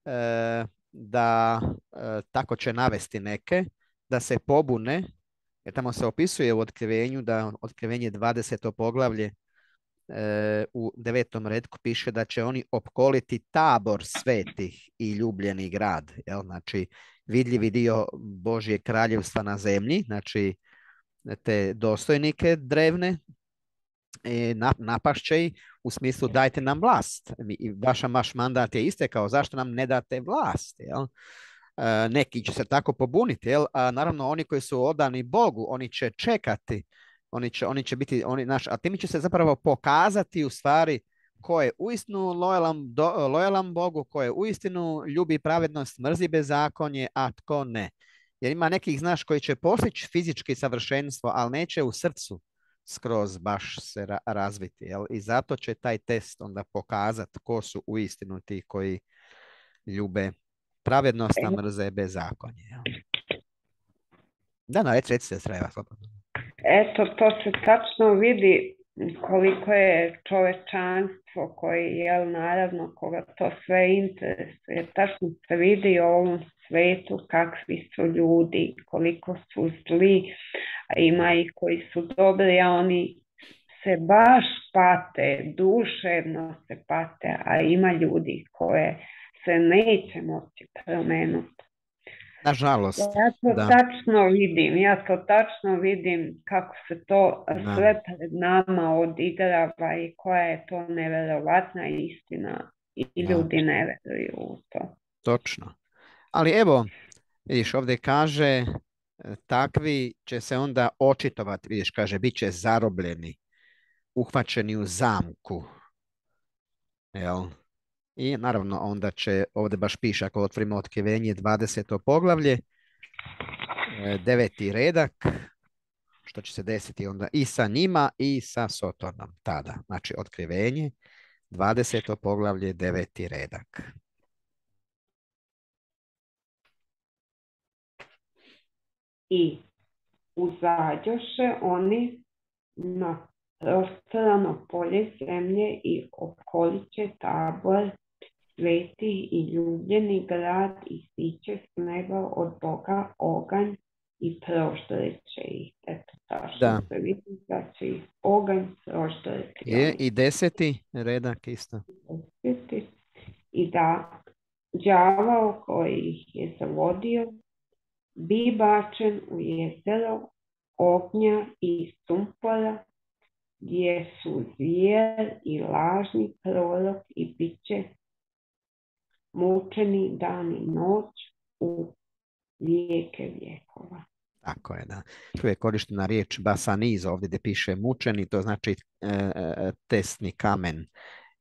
e, da e, tako će navesti neke, da se pobune, jer tamo se opisuje u otkrivenju, da otkrivenje dvadeseto poglavlje e, u devetom redku piše da će oni opkoliti tabor svetih i ljubljeni grad, jel? Znači vidljivi dio Božje kraljevstva na zemlji, znači te dostojnike drevne, e, napašće ih u smislu dajte nam vlast. I vaš, vaš mandat je istekao, zašto nam ne date vlast? Jel? E, neki će se tako pobuniti, jel? A naravno oni koji su odani Bogu, oni će čekati, oni će, oni će biti, oni, naš, a tim će se zapravo pokazati u stvari ko je uistinu lojalan, do, lojalan Bogu, ko je uistinu ljubi pravednost, mrzi bezakonje, a tko ne. Jer ima nekih, znaš, koji će postići fizički savršenstvo, ali neće u srcu skroz baš se ra- razviti. Jel? I zato će taj test onda pokazati ko su uistinu ti koji ljube pravednost, a mrze bezakonje. Jel? Da, no, reci, reci se sreva. Eto, to se tačno vidi koliko je čovečanstvo koji, jel, naravno, koga to sve interesuje. Tačno se vidi u ovom svetu kakvi su ljudi, koliko su zli, a ima i koji su dobri, a oni se baš pate, duševno se pate, a ima ljudi koje se neće moći promenuti. Nažalost. Ja to da. tačno vidim, ja to tačno vidim kako se to Da. sve pred nama odigrava i koja je to neverovatna istina i Da. ljudi ne veruju u to. Točno. Ali evo, vidiš, ovdje kaže, takvi će se onda očitovati, vidiš, kaže, bit će zarobljeni, uhvaćeni u zamku. Jel? I naravno onda će, ovdje baš piše, ako otvorimo otkrivenje dvadeseto poglavlje, deveti redak, što će se desiti onda i sa njima i sa Sotonom tada. Znači otkrivenje, dvadeseto poglavlje, deveti redak. I uzađoše oni na prostrano polje zemlje i okoliće tabor sveti i ljubljeni grad i siće s neba od Boga oganj i proždreće ih. Eto, tačno se vidi da će ih oganj proždreći. Je i deseti redak isto. Deseti. I da đavao koji ih je zavodio bi bačen u jezero ognja i sumpora, gdje su zvijer i lažni prorok i bit će mučeni dan i noć u vijeke vijekova. Tako je, da. Tu je korištena riječ basaniz, ovdje gdje piše mučeni, to znači e, e, tesni kamen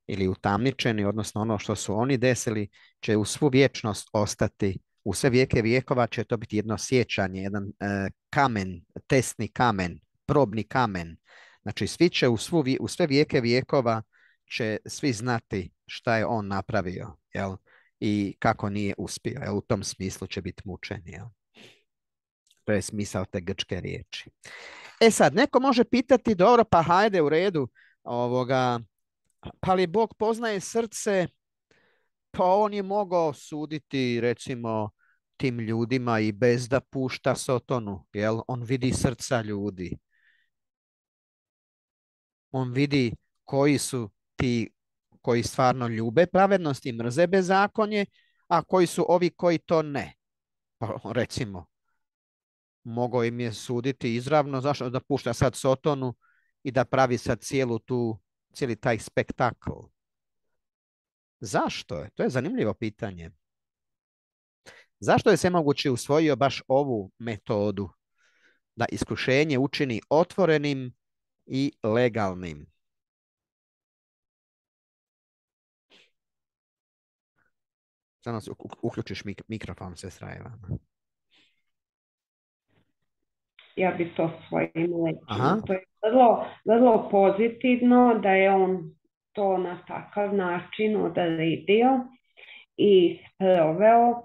ili utamničeni, odnosno ono što su oni desili će u svu vječnost ostati, u sve vijeke vijekova će to biti jedno sjećanje, jedan e, kamen, tesni kamen, probni kamen. Znači svi će u, svu, u sve vijeke vijekova će svi znati šta je on napravio, jel? I kako nije uspio, jel? U tom smislu će biti mučen, jel? To je smisao te grčke riječi. E sad, neko može pitati, dobro, pa hajde u redu, ovoga, pa li Bog poznaje srce, pa on je mogao suditi, recimo, tim ljudima i bez da pušta Sotonu, jel? On vidi srca ljudi. On vidi koji su ti koji stvarno ljube pravednost i mrze bezakonje, a koji su ovi koji to ne. Pa recimo, mogao im je suditi izravno, zašto da pušta sad Sotonu i da pravi sad cijelu tu, cijeli taj spektakl. Zašto je? To je zanimljivo pitanje. Zašto je Svemogući usvojio baš ovu metodu da iskušenje učini otvorenim i legalnim? Samo si uključiš mik mikrofon, sestra Eva. Ja bi to svojim Aha. lećima. To je vrlo, vrlo pozitivno da je on to na takav način odredio i sproveo,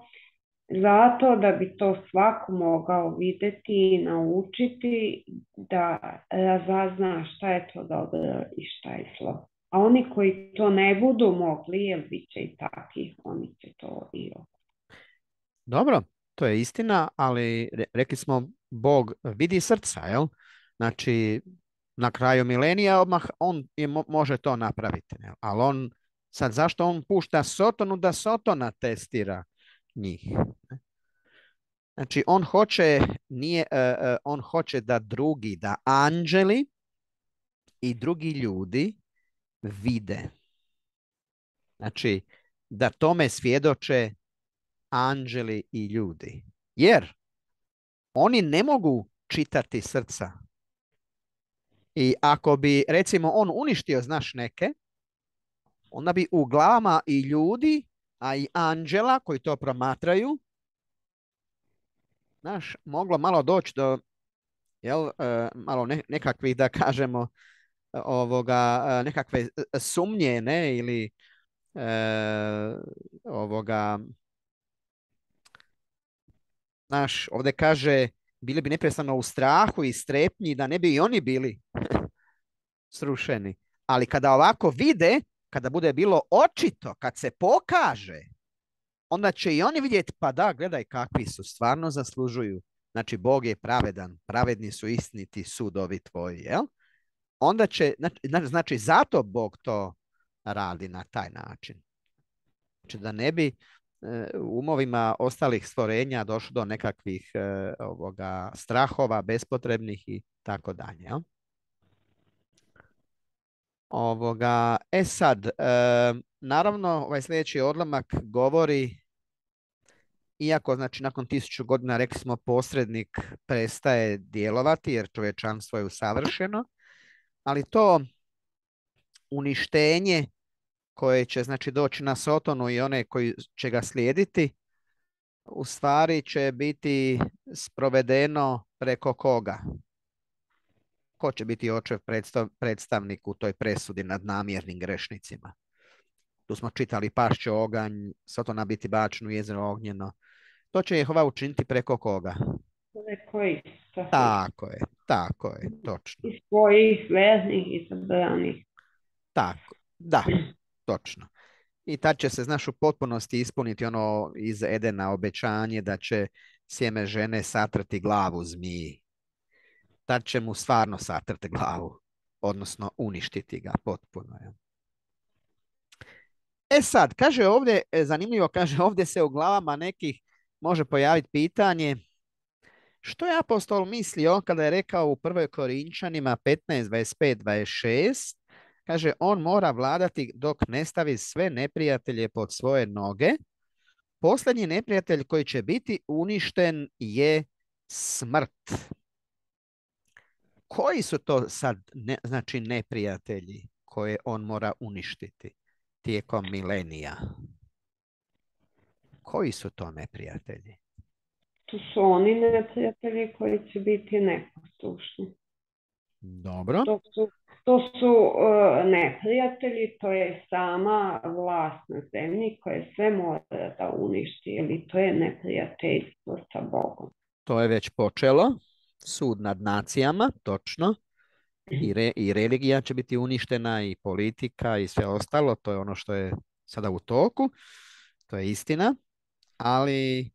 zato da bi to svako mogao vidjeti i naučiti da razazna šta je to dobro i šta je zlo. A oni koji to ne budu mogli, jer bit će i takih, oni će to i ovo. Dobro, to je istina, ali re- rekli smo Bog vidi srca, jel? Znači, na kraju milenija odmah on je, mo- može to napraviti, jel? Ali on, sad zašto on pušta Sotonu da Sotona testira njih? Znači, on hoće, nije, e, e, on hoće da drugi, da anđeli i drugi ljudi vide. Znači, da tome svjedoče anđeli i ljudi. Jer oni ne mogu čitati srca. I ako bi, recimo, on uništio, znaš, neke, onda bi u glavama i ljudi, a i anđela koji to promatraju, znaš, moglo malo doći do, jel, e, malo ne, nekakvih, da kažemo, ovoga, e, nekakve sumnje, ne, ili e, ovoga, znaš, ovdje kaže, bili bi neprestano u strahu i strepnji da ne bi i oni bili srušeni. Ali kada ovako vide, kada bude bilo očito, kad se pokaže, onda će i oni vidjeti, pa da, gledaj kakvi su, stvarno zaslužuju. Znači, Bog je pravedan, pravedni su istiniti sudovi tvoji, jel? Onda će, znači, znači, zato Bog to radi na taj način. Znači, da ne bi e, u umovima ostalih stvorenja došlo do nekakvih e, ovoga, strahova, bespotrebnih i tako dalje, jel? Ovoga, e sad, e, naravno, ovaj sljedeći odlomak govori, iako znači nakon tisuću godina, rekli smo, posrednik prestaje djelovati jer čovječanstvo je usavršeno, ali to uništenje koje će znači doći na Sotonu i one koji će ga slijediti, u stvari će biti sprovedeno preko koga? Ko će biti očev predstav, predstavnik u toj presudi nad namjernim grešnicima? Tu smo čitali pašće oganj, Sotona biti bačen u jezero ognjeno. To će Jehova učiniti preko koga? Preko Isusa. Tako je, tako je, točno. I svojih vernih i zabranih. Tako, da, točno. I tad će se, znaš, u potpunosti ispuniti ono iz Edena obećanje da će sjeme žene satrati glavu zmiji. Tad će mu stvarno satrati glavu, odnosno uništiti ga potpuno. Ja. E sad, kaže ovdje, zanimljivo, kaže ovdje se u glavama nekih može pojaviti pitanje što je apostol mislio kada je rekao u prvoj Korinčanima petnaest, dvadeset pet, dvadeset šest, kaže on mora vladati dok ne stavi sve neprijatelje pod svoje noge. Posljednji neprijatelj koji će biti uništen je smrt. Koji su to sad ne, znači neprijatelji koje on mora uništiti tijekom milenija? Koji su to neprijatelji? To su oni neprijatelji koji će biti neposlušni. Dobro. To su, to su uh, neprijatelji, to je sama vlast na zemlji koje sve mora da uništi, ili to je neprijateljstvo sa Bogom. To je već počelo. Sud nad nacijama, točno. I, re, I religija će biti uništena, i politika, i sve ostalo. To je ono što je sada u toku. To je istina. Ali,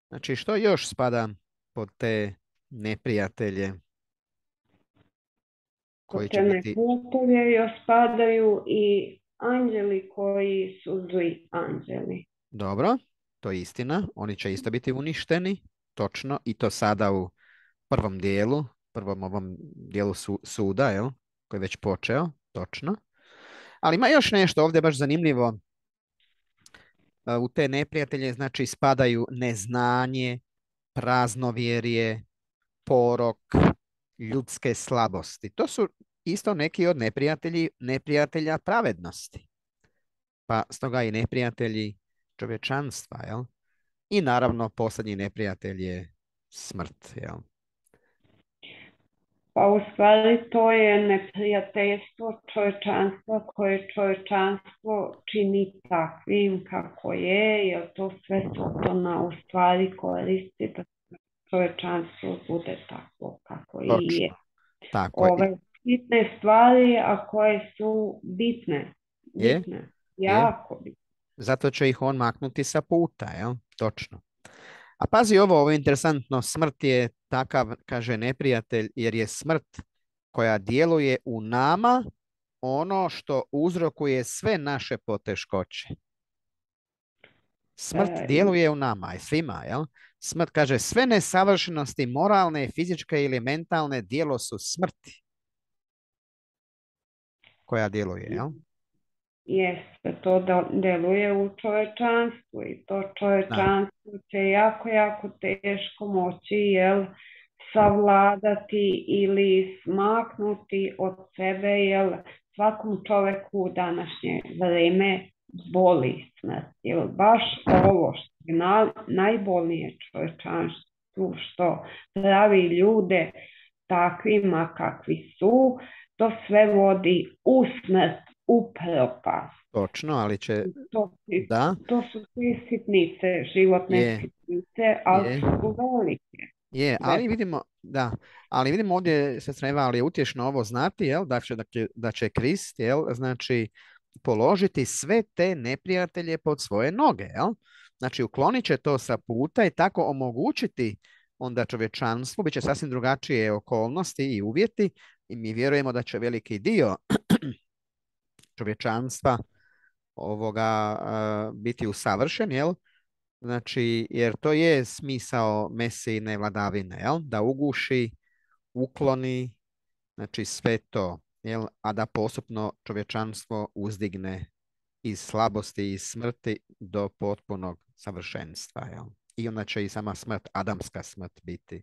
znači, što još spada pod te neprijatelje koji Kod će crne biti... putove još spadaju i anđeli koji su zli anđeli. Dobro, to je istina. Oni će isto biti uništeni, točno. I to sada u prvom dijelu, prvom ovom dijelu su, suda, jel? Koji je već počeo, točno. Ali ima još nešto ovdje baš zanimljivo. E, U te neprijatelje, znači, spadaju neznanje, praznovjerje, porok, ljudske slabosti. To su isto neki od neprijatelji, neprijatelja pravednosti. Pa stoga i neprijatelji čovječanstva, jel? I naravno posljednji neprijatelj je smrt, jel? Pa u stvari to je neprijateljstvo čovječanstva koje čovječanstvo čini takvim kako je, jer to sve Sotona u stvari koristi da čovječanstvo bude tako kako i je. Točno. Tako je. Ove bitne stvari, a koje su bitne, Je, bitne, je. jako bitne. Zato će ih on maknuti sa puta, jel? Točno. A pazi ovo, ovo je interesantno. Smrt je takav, kaže neprijatelj, jer je smrt koja djeluje u nama ono što uzrokuje sve naše poteškoće. Smrt E, djeluje u nama i svima, jel? Smrt kaže sve nesavršenosti moralne, fizičke ili mentalne djelo su smrti koja djeluje, jel? Jeste, to da deluje u čovečanstvu i to Da, čovečanstvo će jako, jako teško moći, jel, savladati ili smaknuti od sebe, jel, svakom čoveku u današnje vreme boli smrt. Jel, baš ovo što je na, najbolnije čovečanstvu, što pravi ljude takvima kakvi su, to sve vodi u smrt, u propast. točno, ali će, To, da, to su sve sitnice, životne je, sitnice, ali je, su velike. je, ali vidimo, da, ali vidimo ovdje, sestra Eva, ali je utješno ovo znati, jel, da će, da će, da će Krist, jel, znači, položiti sve te neprijatelje pod svoje noge, jel? Znači, uklonit će to sa puta i tako omogućiti onda čovječanstvu, bit će sasvim drugačije okolnosti i uvjeti i mi vjerujemo da će veliki dio čovječanstva ovoga uh, biti usavršen, jel? Znači, jer to je smisao Mesijine vladavine, jel? Da uguši, ukloni, znači sve to, jel? A da postupno čovječanstvo uzdigne iz slabosti i smrti do potpunog savršenstva, jel? I onda će i sama smrt, adamska smrt biti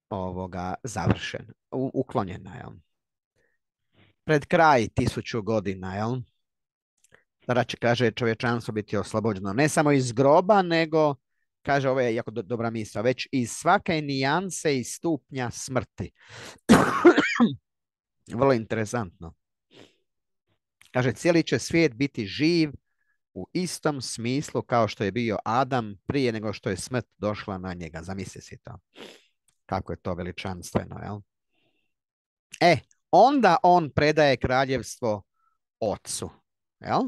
ovoga završena, u, uklonjena, jel? Pred kraj tisuću godina, jel? Tada će, kaže, čovječanstvo biti oslobođeno ne samo iz groba, nego, kaže, ovo je jako do, dobra misla, već iz svake nijanse i stupnja smrti. Vrlo interesantno. Kaže, cijeli će svijet biti živ u istom smislu kao što je bio Adam prije nego što je smrt došla na njega. Zamisli si to. Kako je to veličanstveno, jel? E, onda on predaje kraljevstvo ocu, jel?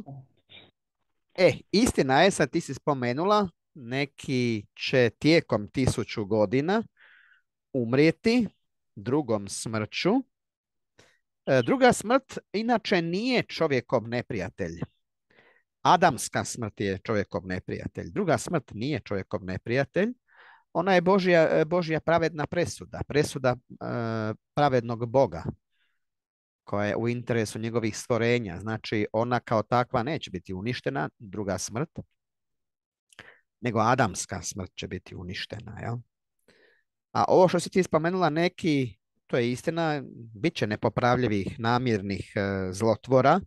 E, istina je, sad ti si spomenula, neki će tijekom tisuću godina umrijeti drugom smrću. E, druga smrt inače nije čovjekov neprijatelj. Adamska smrt je čovjekov neprijatelj. Druga smrt nije čovjekov neprijatelj. Ona je Božja, Božja pravedna presuda. Presuda e, pravednog Boga koja je u interesu njegovih stvorenja. Znači, ona kao takva neće biti uništena, druga smrt, nego adamska smrt će biti uništena. Jel? A ovo što si ti spomenula, neki, to je istina, bit će nepopravljivih, namjernih e, zlotvora.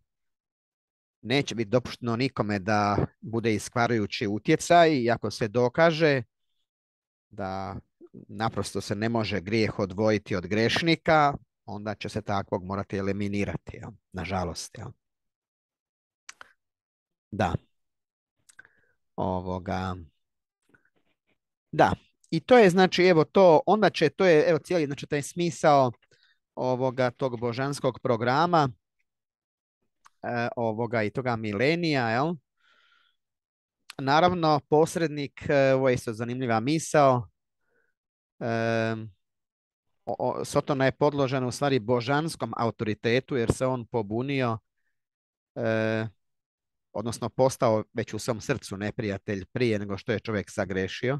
Neće biti dopušteno nikome da bude iskvarujući utjecaj i ako se dokaže da naprosto se ne može grijeh odvojiti od grešnika, onda će se takvog morati eliminirati, jel? Nažalost. Jel? Da. Ovoga. Da. I to je znači, evo to, onda će, to je, evo cijeli, znači taj smisao ovoga tog božanskog programa, e, ovoga i toga milenija, jel? Naravno, posrednik, e, ovo je isto zanimljiva misao, e, o, Sotona je podložena u stvari božanskom autoritetu jer se on pobunio, e, odnosno postao već u svom srcu neprijatelj prije nego što je čovjek sagrešio.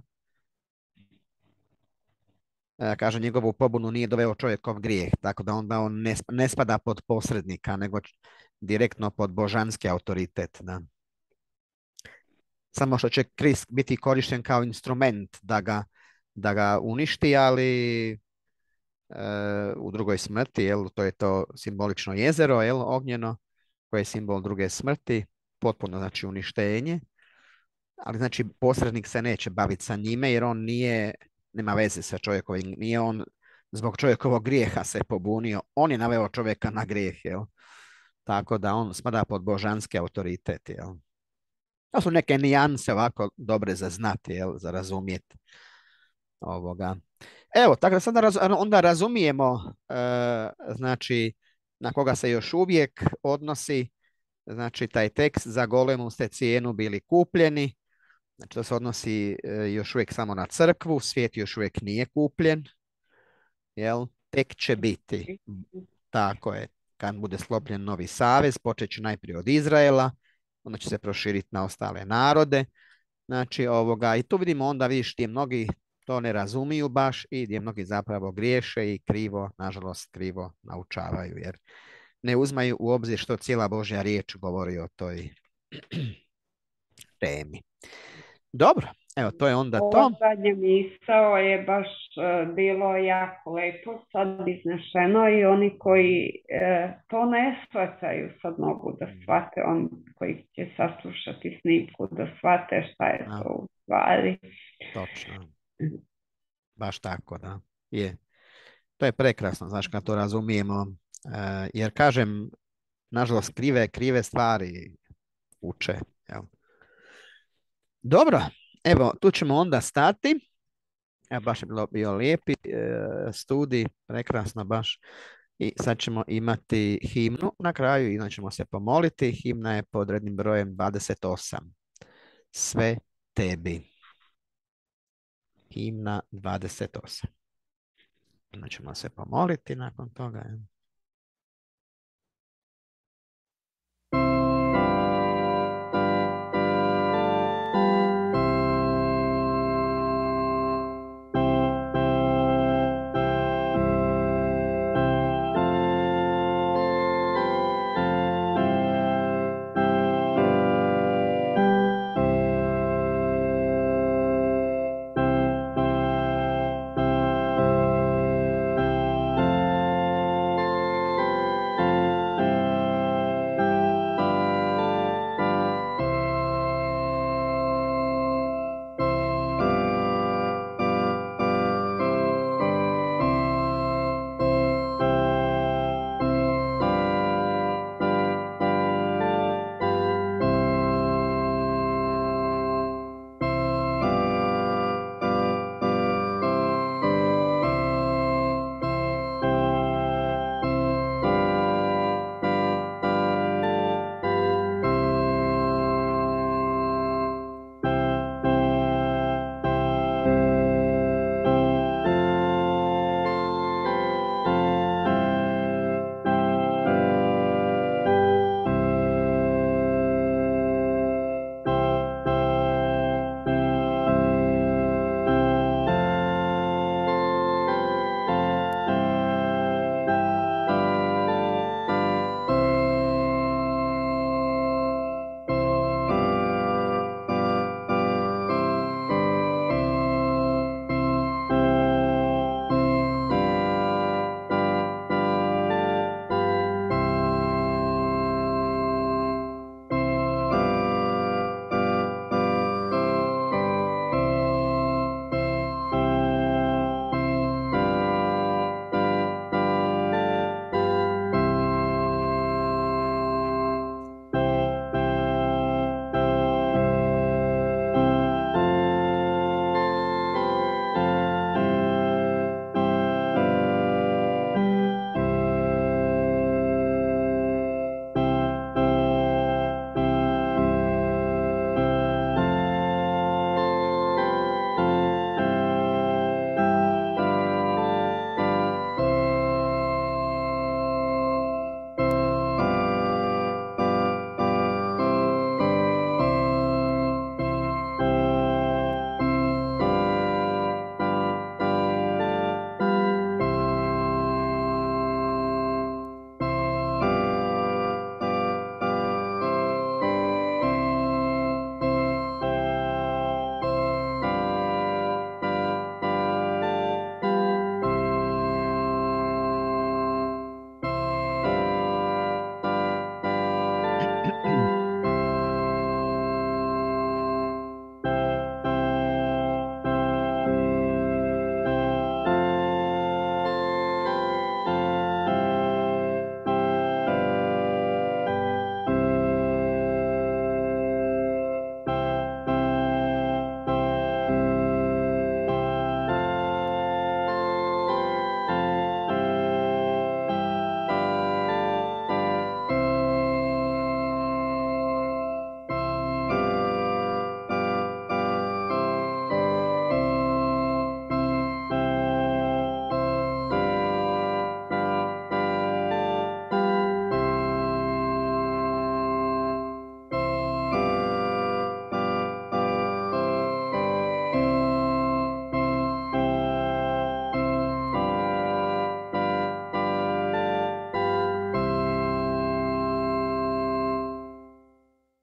E, kaže, njegovu pobunu nije doveo čovjekov grijeh, tako da onda on ne, ne spada pod posrednika, nego direktno pod božanski autoritet. Da. Samo što će Krist biti korišten kao instrument da ga, da ga uništi, ali u drugoj smrti, jel, to je to simbolično jezero, jel, ognjeno, koje je simbol druge smrti, potpuno znači uništenje, ali znači posrednik se neće baviti sa njime jer on nije, nema veze sa čovjekovim, nije on zbog čovjekovog grijeha se pobunio, on je naveo čovjeka na grijeh, jel, tako da on spada pod božanski autoritet, jel. To su neke nijanse ovako dobre za znati, jel, za razumjeti ovoga. Evo, tako da sada raz, onda razumijemo e, znači na koga se još uvijek odnosi znači taj tekst za golemu ste cijenu bili kupljeni. Znači to se odnosi e, još uvijek samo na crkvu, svijet još uvijek nije kupljen. Jel? Tek će biti. Tako je. Kad bude sklopljen novi savez, počet će najprije od Izraela, onda će se proširiti na ostale narode. Znači ovoga, i tu vidimo onda, vidiš, ti mnogi to ne razumiju baš i gdje mnogi zapravo griješe i krivo, nažalost krivo naučavaju jer ne uzmaju u obzir što cijela Božja riječ govori o toj temi. Dobro, evo to je onda to. Ovo zadnje misao je baš uh, bilo jako lepo sad iznešeno i oni koji uh, to ne shvataju sad mogu da shvate, oni koji će saslušati snimku da shvate šta je A, to u stvari. točno. Baš tako, da. Je. To je prekrasno, znaš, kad to razumijemo. E, jer, kažem, nažalost, krive, krive stvari uče. Jel? Dobro, evo, tu ćemo onda stati. E, baš je bilo bio lijepi e, studij, prekrasno baš. I sad ćemo imati himnu na kraju i onda ćemo se pomoliti. Himna je pod rednim brojem dvadeset osam. Sve tebi. Himna dvadeset osam. Onda ćemo se pomoliti nakon toga.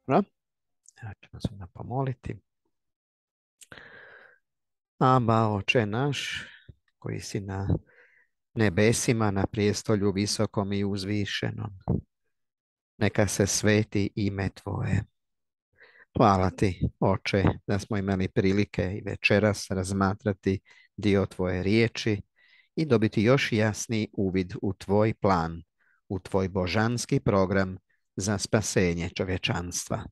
Dobro. Ja ćemo se onda pomoliti. Aba, Oče naš, koji si na nebesima, na prijestolju visokom i uzvišenom, neka se sveti ime Tvoje. Hvala Ti, Oče, da smo imali prilike i večeras razmatrati dio Tvoje riječi i dobiti još jasniji uvid u Tvoj plan, u Tvoj božanski program za spasenje čovječanstva,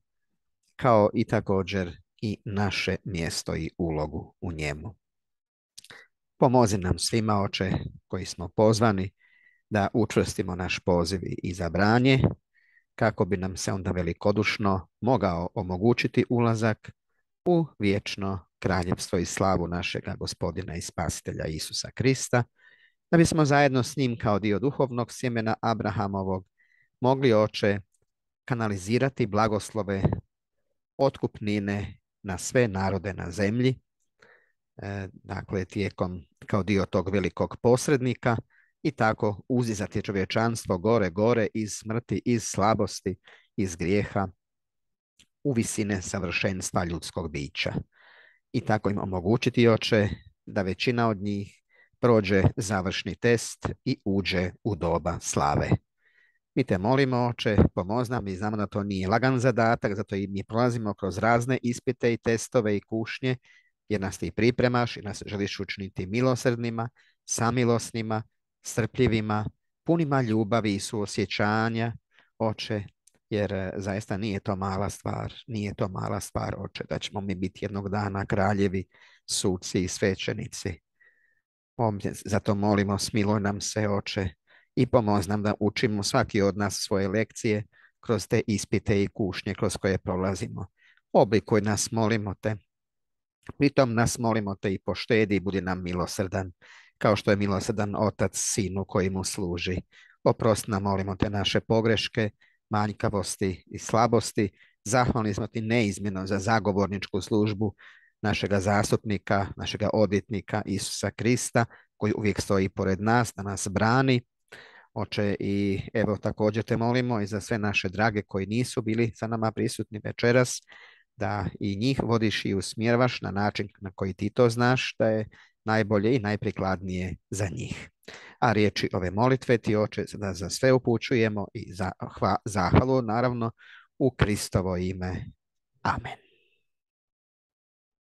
kao i također i naše mjesto i ulogu u njemu. Pomozi nam svima, Oče, koji smo pozvani da učvrstimo naš poziv i izabranje, kako bi nam se onda velikodušno mogao omogućiti ulazak u vječno kraljevstvo i slavu našega Gospodina i Spasitelja Isusa Krista, da bismo zajedno s njim kao dio duhovnog sjemena Abrahamovog mogli, Oče, kanalizirati blagoslove otkupnine na sve narode na zemlji, e, dakle tijekom kao dio tog velikog posrednika, i tako uzizati čovječanstvo gore, gore iz smrti, iz slabosti, iz grijeha u visine savršenstva ljudskog bića. I tako im omogućiti, Oče, da većina od njih prođe završni test i uđe u doba slave. Mi te molimo, Oče, pomozi nam, i znamo da to nije lagan zadatak, zato i mi prolazimo kroz razne ispite i testove i kušnje, jer nas ti pripremaš i nas želiš učiniti milosrdnima, samilosnima, strpljivima, punima ljubavi i suosjećanja, Oče, jer zaista nije to mala stvar, nije to mala stvar, Oče, da ćemo mi biti jednog dana kraljevi, suci i svećenici. Zato molimo, smiluj nam se, Oče, i pomozi nam da učimo svaki od nas svoje lekcije kroz te ispite i kušnje kroz koje prolazimo. Oblikuj nas, molimo te. Pritom nas, molimo te, i poštedi i budi nam milosrdan, kao što je milosrdan otac sinu koji mu služi. Oprosti nam, molimo te, naše pogreške, manjkavosti i slabosti. Zahvalni smo ti neizmjerno za zagovorničku službu našega zastupnika, našega odvjetnika Isusa Krista, koji uvijek stoji pored nas, da nas brani. Oče, i evo također te molimo i za sve naše drage koji nisu bili sa nama prisutni večeras, da i njih vodiš i usmjeravaš na način na koji ti to znaš da je najbolje i najprikladnije za njih. A riječi ove molitve ti, Oče, da za sve upućujemo i za, hva, zahvalu naravno u Kristovo ime. Amen.